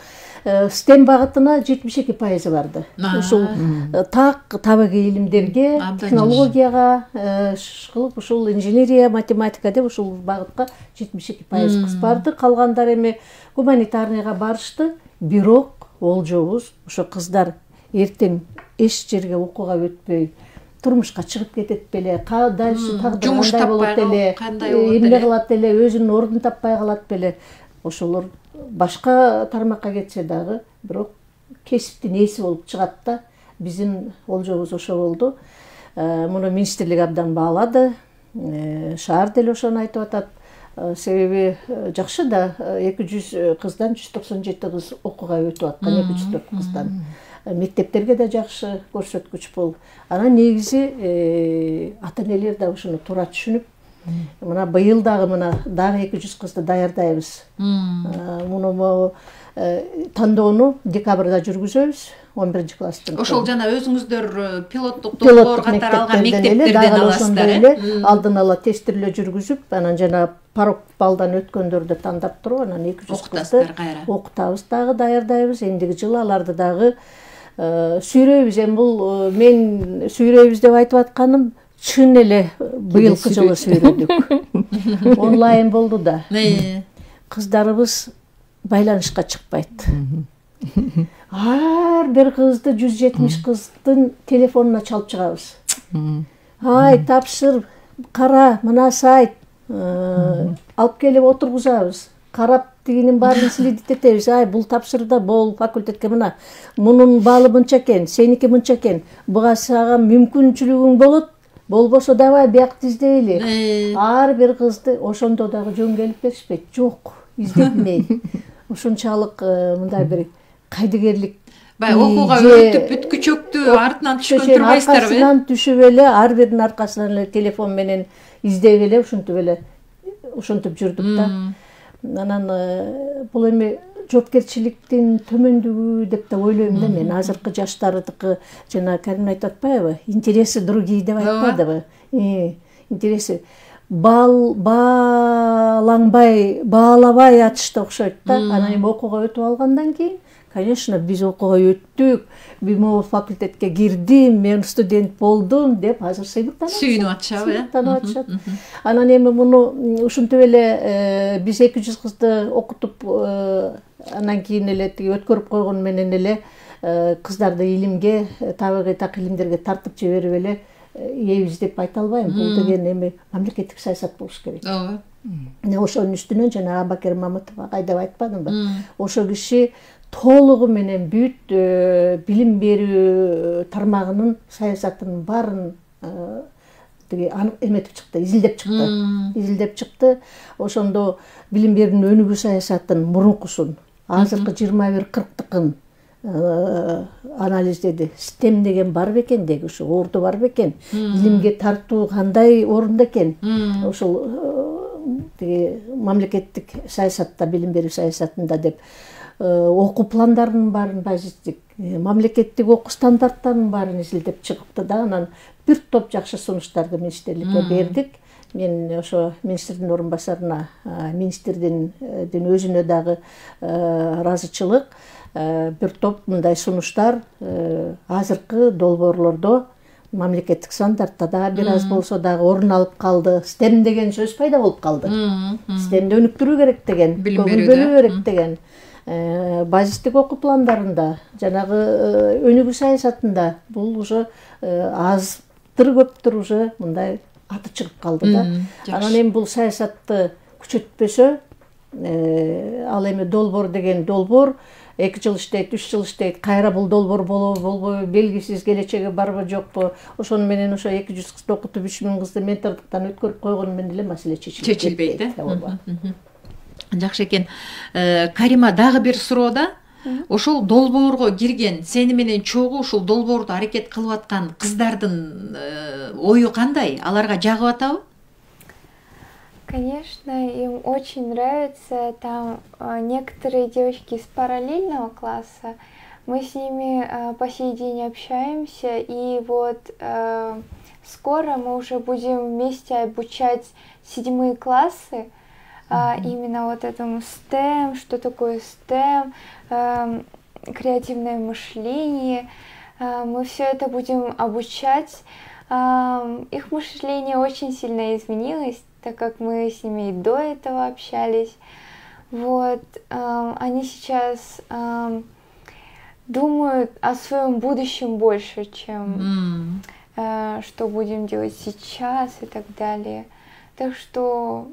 стем багытына жетимиш эки пайызы барды. Ушул так табигый илимдерге, технологияга, кылып ушул инженерия, математика деп ушул багытка жетимиш эки пайыз кыз барды. Калгандар эми гуманитарныйга барышты. Бирок олжобуз ошо кыздар эртең эч жерге окууга өтпөй, турмушка чыгып кетет беле, дальше тагдыр кандай болот эле, эмне кылат эле, өзүнүн ордун таппай калат беле. Ошолор башка тармакка кетсе дагы, бирок кесиптин ээси болуп чыгат да. Биздин олжобуз ошо болду. Муну министрлик абдан баалады. Шаар деле ошону айтып атат. Себеби жакшы да, эки жүз кыздан жүз токсон жети кыз окууга өтүп аткан, эки жүз төрт кыздан. Мектептерге да жакшы көрсөткүч бул. Анан негизи ата энелер да ушуну туура түшүнүп, мына быйыл дагы мына дагы эки жүз кызды даярдайбыз. Муну тандоону декабрда жүргүзөбүз, он биринчи класстын. Ошол жана өзүңүздөр пилоттук долбоор катары алган мектептерден аласыздар. Алдын ала тестирлөө жүргүзүп, анан жана парок балдан өткөндөрдү тандап туруп, анан эки жүз кызды окутабыз дагы, даярдайбыз. Эндиги жылы аларды дагы сүйрөйбүз. Эми бул мен сүйрөйбүз деп айтып атканым чын эле быйылкы жылы сүйрөдүк. Онлайн болду да. Кыздарыбыз байланышка чыкпайт. Ар бир кызды, жүз жетимиш кыздын телефонуна чалып чыгабыз. Ай, тапшыр, кара, мына сайт, алып келип отургузабыз. Карап тигинин баарын следиттетебиз. Ай, бул тапшырда, бул факультетке мына, мунун баалы мынча экен, сеники мынча экен. Буга сага мүмкүнчүлүгүң болот, болбосо давай биякты издейли. Ар бир кызды ошондо дагы жөн келип беришпейт. Жок, издетмей. Ушунчалык мындай бир кайдыгерлик. Бай окууга өтүп бүткүчөктү артынан түшкөн турбайсыздарбы? Аркасынан түшүп эле, ар биринин аркасынан эле телефон менен издеп эле ушинтип эле ушинтип жүрдүк да. Анан бул эми жоопкерчиликтин төмөндүгү деп да ойлойм да мен. Азыркы жаштардыкы жана Карим айтып атпайбы? Интересы другие деп айтпадыбы? Интереси баал баалаңбай, баалабай атышты окшойт да. Анан эми окууга өтүп алгандан кийин, конечно, биз окууга өттүк, бул факультетке кирдим, мен студент болдум деп азыр сыймыктанат. Сүйүнүп атышабы, э? Сыймыктанып атышат. Анан эми муну ушинтип эле биз эки жүз кызды окутуп, анан кийин эле тиги өткөрүп койгон менен эле кыздарды илимге, табигый так илимдерге тартып жиберип эле ийебиз деп айта албайм. Бул деген эми мамлекеттик саясат болуш керек. Ооба. Ошонун үстүнөн жана Абакер Мамытов агай деп айтпадымбы? Ошол киши толугу менен бүт билим берүү тармагынын саясатынын баарын тиги эметип чыкты, изилдеп чыкты. Изилдеп чыкты. Ошондо билим берүүнүн өнүгүү саясатын мурункусун, азыркы жыйырма бир кырктыкын анализдеди. Стем деген бар бекен деги, ушу орду бар бекен. Билимге тартуу кандай орунда экен. Ошол тиги мамлекеттик саясатта, билим берүү саясатында деп окуу пландарынын баарын базиттик, мамлекеттик окуу стандарттарынын баарын изилдеп чыкты да, анан бир топ жакшы сунуштарды министрликке бердик. Мен ошо министрдин орун басарына, министрдин өзүнө дагы ыраазычылык, бир топ мындай сунуштар азыркы долбоорлордо мамлекеттик стандартта да бир аз болсо дагы орун алып калды. Стем деген сөз пайда болуп калды. Стемди өнүктүрүү керек деген, көңүл бөлүү керек деген. Базистик окуу пландарында, жанагы өнүгүү саясатында бул уже аздыр көптүр уже мындай аты чыгып калды да. Анан эми бул саясатты күчөтпөсө, ал эми долбоор деген долбоор эки жыл иштейт, үч жыл иштейт, кайра бул долбоор болобу болбойбу белгисиз, келечеги барбы жокпу, ошону менен ошо эки жүз кызды окутуп үч миң кызды ментордуктан өткөрүп койгону менен эле маселе чечилбейт. Жакшы экен. Карима, дагы бир суроо да. Ошол долбоорго кирген, сени менен чогуу ушул долбоорду аракет кылып аткан кыздардын ою кандай? Аларга жагып атабы? Конечно, им очень нравится. Там некоторые девочки из параллельного класса. Мы с ними по сей день общаемся, и вот скоро мы уже будем вместе обучать седьмые классы. А, именно вот этому стем, что такое стем, э, креативное мышление. Э, мы все это будем обучать. Э, их мышление очень сильно изменилось, так как мы с ними и до этого общались. Вот, э, они сейчас э, думают о своем будущем больше, чем э, что будем делать сейчас и так далее. Так что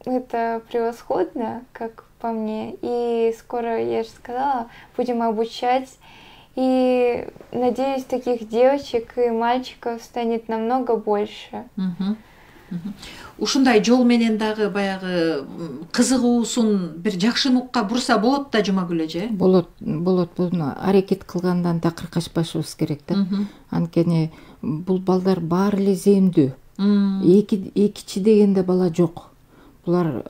это превосходно, как по мне. И скоро, я же сказала, будем обучать. И надеюсь, таких девочек и мальчиков станет намного больше. Ушундай жол менен дагы баягы кызыгуусун бир жакшы нукка бурса болот да, Жумагүл эже? Болот, болот. Буну аракет кылгандан такыр качпашыбыз керек да. Анткени бул балдар баары эле зээмдүү. Эки экичи дегенде бала жок. Булар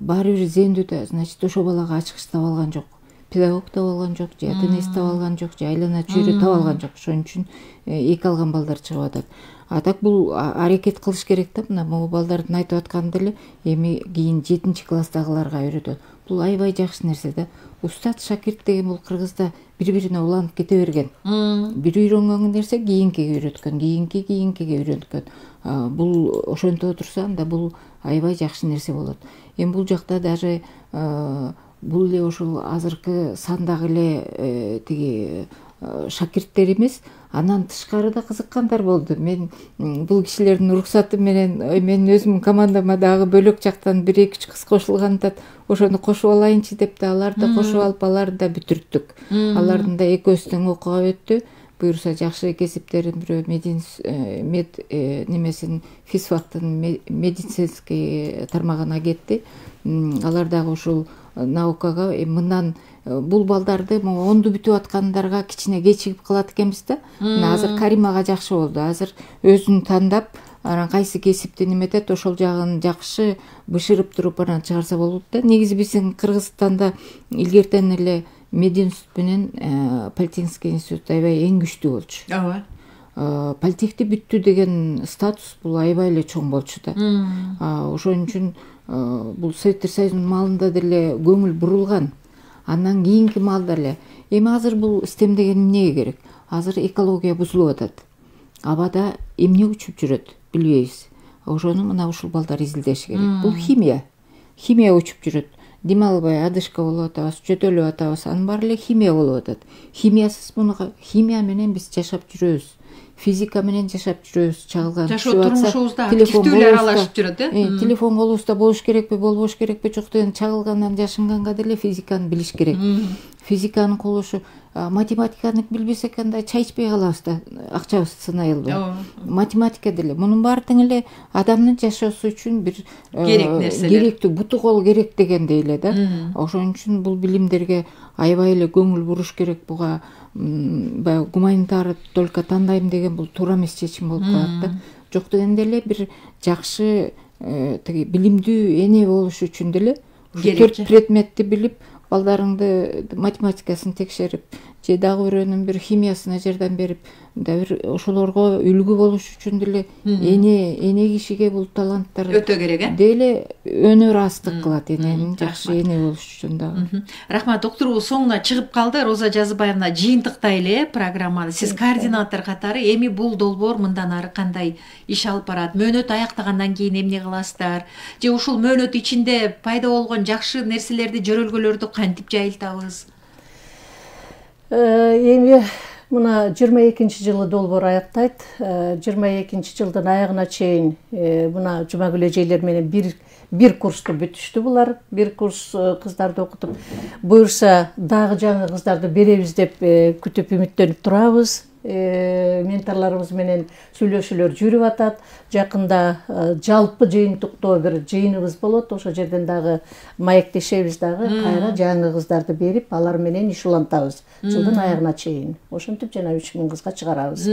баары бир зээмдүү да, значит, ошо балага ачкыч таба алган жок. Педагог таба алган жок, же ата-энеси таба алган жок, же айлана чөйрө таба алган жок. Ошон үчүн эки алган балдар чыгып атат. А так бул аракет кылыш керек да, мына могу балдардын айтып атканы деле эми кийин жетинчи класстагыларга үйрөтөт. Бул аябай жакшы нерсе да. Устат шакирт деген бул кыргызда бири-бирине уланып кете берген. Бир үйрөнгөн нерсе кийинкиге үйрөткөн, кийинки кийинкиге үйрөткөн. Бул ошентип отурса, анда бул аябай жакшы нерсе болот. Эми бул жакта даже бул эле ошол азыркы сандагы эле тиги шакирттер эмес, анан тышкары да кызыккандар болду. Мен бул кишилердин уруксаты менен мен өзүмдүн командама дагы бөлөк жактан бир эки үч кыз кошулган да, ошону кошуп алайынчы деп да, аларды да кошуп алып, аларды да бүтүрттүк. Алардын да экөөсү тең окууга өттү. Буюрса жакшы кесиптерин бирөө мед немесин физфактын медицинский тармагына кетти. Алар дагы ушул наукага мындан бул балдарды онду бүтүп аткандарга кичине кечигип калат экенбиз да. Мына азыр Каримага жакшы болду. Азыр өзүн тандап, анан кайсы кесипти неметет, ошол жагын жакшы бышырып туруп анан чыгарса болот да. Негизи биздин Кыргызстанда илгертен эле Мединститут менен Политехник институт аябай эң күчтүү болчу. Ооба. Политехти бүттү деген статус бул аябай эле чоң болчу да. Ошон үчүн бул Советтер Союзунун маалында деле көңүл бурулган. Андан кийинки маалда эле. Эми азыр бул стем деген эмнеге керек? Азыр экология бузулуп атат. Абада эмне учуп жүрөт, билбейбиз. Ошону мына ушул балдар изилдеши керек. Бул химия. Химия учуп жүрөт. Дем албай адышка болуп атабыз, жөтөлүп атабыз, анын баары эле химия болуп атат. Химиясыз муну химия менен биз жашап жүрөбүз. физика менен жашап жүрөбүз, чагылган жашоо турмушубузда активдүүлөр аралашып жүрөт э телефон колубузда болуш керекпи, болбош керекпи, жок деген чагылгандан жашынганга деле физиканы билиш керек. Физиканын колушу, математиканы билбесек кандай чай ичпей калабыз да, акчабызды сынай албай. Математика деле мунун баары тең эле адамдын жашоосу үчүн бир керек нерселер, керектүү, буту кол керек дегендей эле да. Ошон үчүн бул билимдерге аябай эле көңүл буруш керек. Буга баягы гуманитар только тандайм деген бул туура эмес чечим болуп калат да. Жок дегенде эле бир жакшы тиги билимдүү эне болуш үчүн деле төрт предметти билип, балдарыңды математикасын текшерип, же дагы бирөөнүн бир химиясына жардам берип, мындай бир ошолорго үлгү болуш үчүн деле эне эне кишиге бул таланттар өтө керек э. Деле өнөр астык кылат эненин жакшы эне болуш үчүн дагы. Рахмат, докторубуз соңуна чыгып калды. Роза Жазыбаевна, жыйынтыктайлы программаны. Сиз координатор катары эми бул долбоор мындан ары кандай иш алып барат? Мөөнөт аяктагандан кийин эмне кыласыздар? Же ушул мөөнөт ичинде пайда болгон жакшы нерселерди, жөрөлгөлөрдү кантип жайылтабыз? Эми мына жыйырма экинчи жылы долбоор аяктайт. жыйырма экинчи жылдын аягына чейин мына Жумагүл эжелер менен бир бир курсту бүтүштү булар. Бир курс кыздарды окутуп, буюрса дагы жаңы кыздарды беребиз деп күтүп үмүттөнүп турабыз. Менторлорубуз менен сүйлөшүүлөр жүрүп атат. Жакында жалпы жыйынтыктоо бир жыйыныбыз болот. Ошол жерден дагы маектешебиз дагы, кайра жаңы кыздарды берип, алар менен иш улантабыз жылдын аягына чейин. Ошентип жана үч миң кызга чыгарабыз.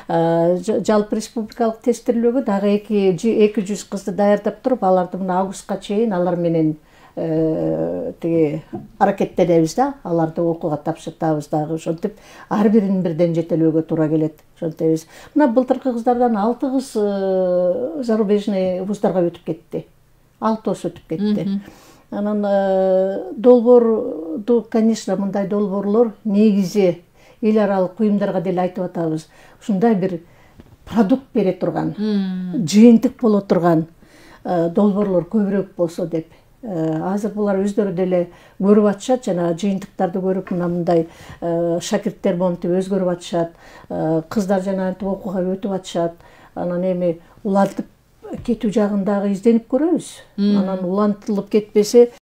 Жалпы республикалык тестирлөөгө дагы эки жүз кызды даярдап туруп, аларды мына августка чейин алар менен тиги аракеттенебиз да, аларды окууга тапшыртабыз дагы. Ошентип ар бирин бирден жетелөөгө туура келет. Ошентебиз. Мына былтыркы кыздардан алты кыз зарубежный вуздарга өтүп кетти. алтысы өтүп кетти. Анан долбоорду, конечно, мындай долбоорлор негизи эл аралык уюмдарга деле айтып атабыз. Ушундай бир продукт бере турган, жыйынтык боло турган долбоорлор көбүрөөк болсо деп. Азыр булар өздөрү деле көрүп атышат, жана жыйынтыктарды көрүп мына мындай шакирттер монтип өзгөрүп атышат, кыздар жана антип окууга өтүп атышат. Анан эми улантып кетүү жагын дагы изденип көрөбүз. Анан улантылып кетпесе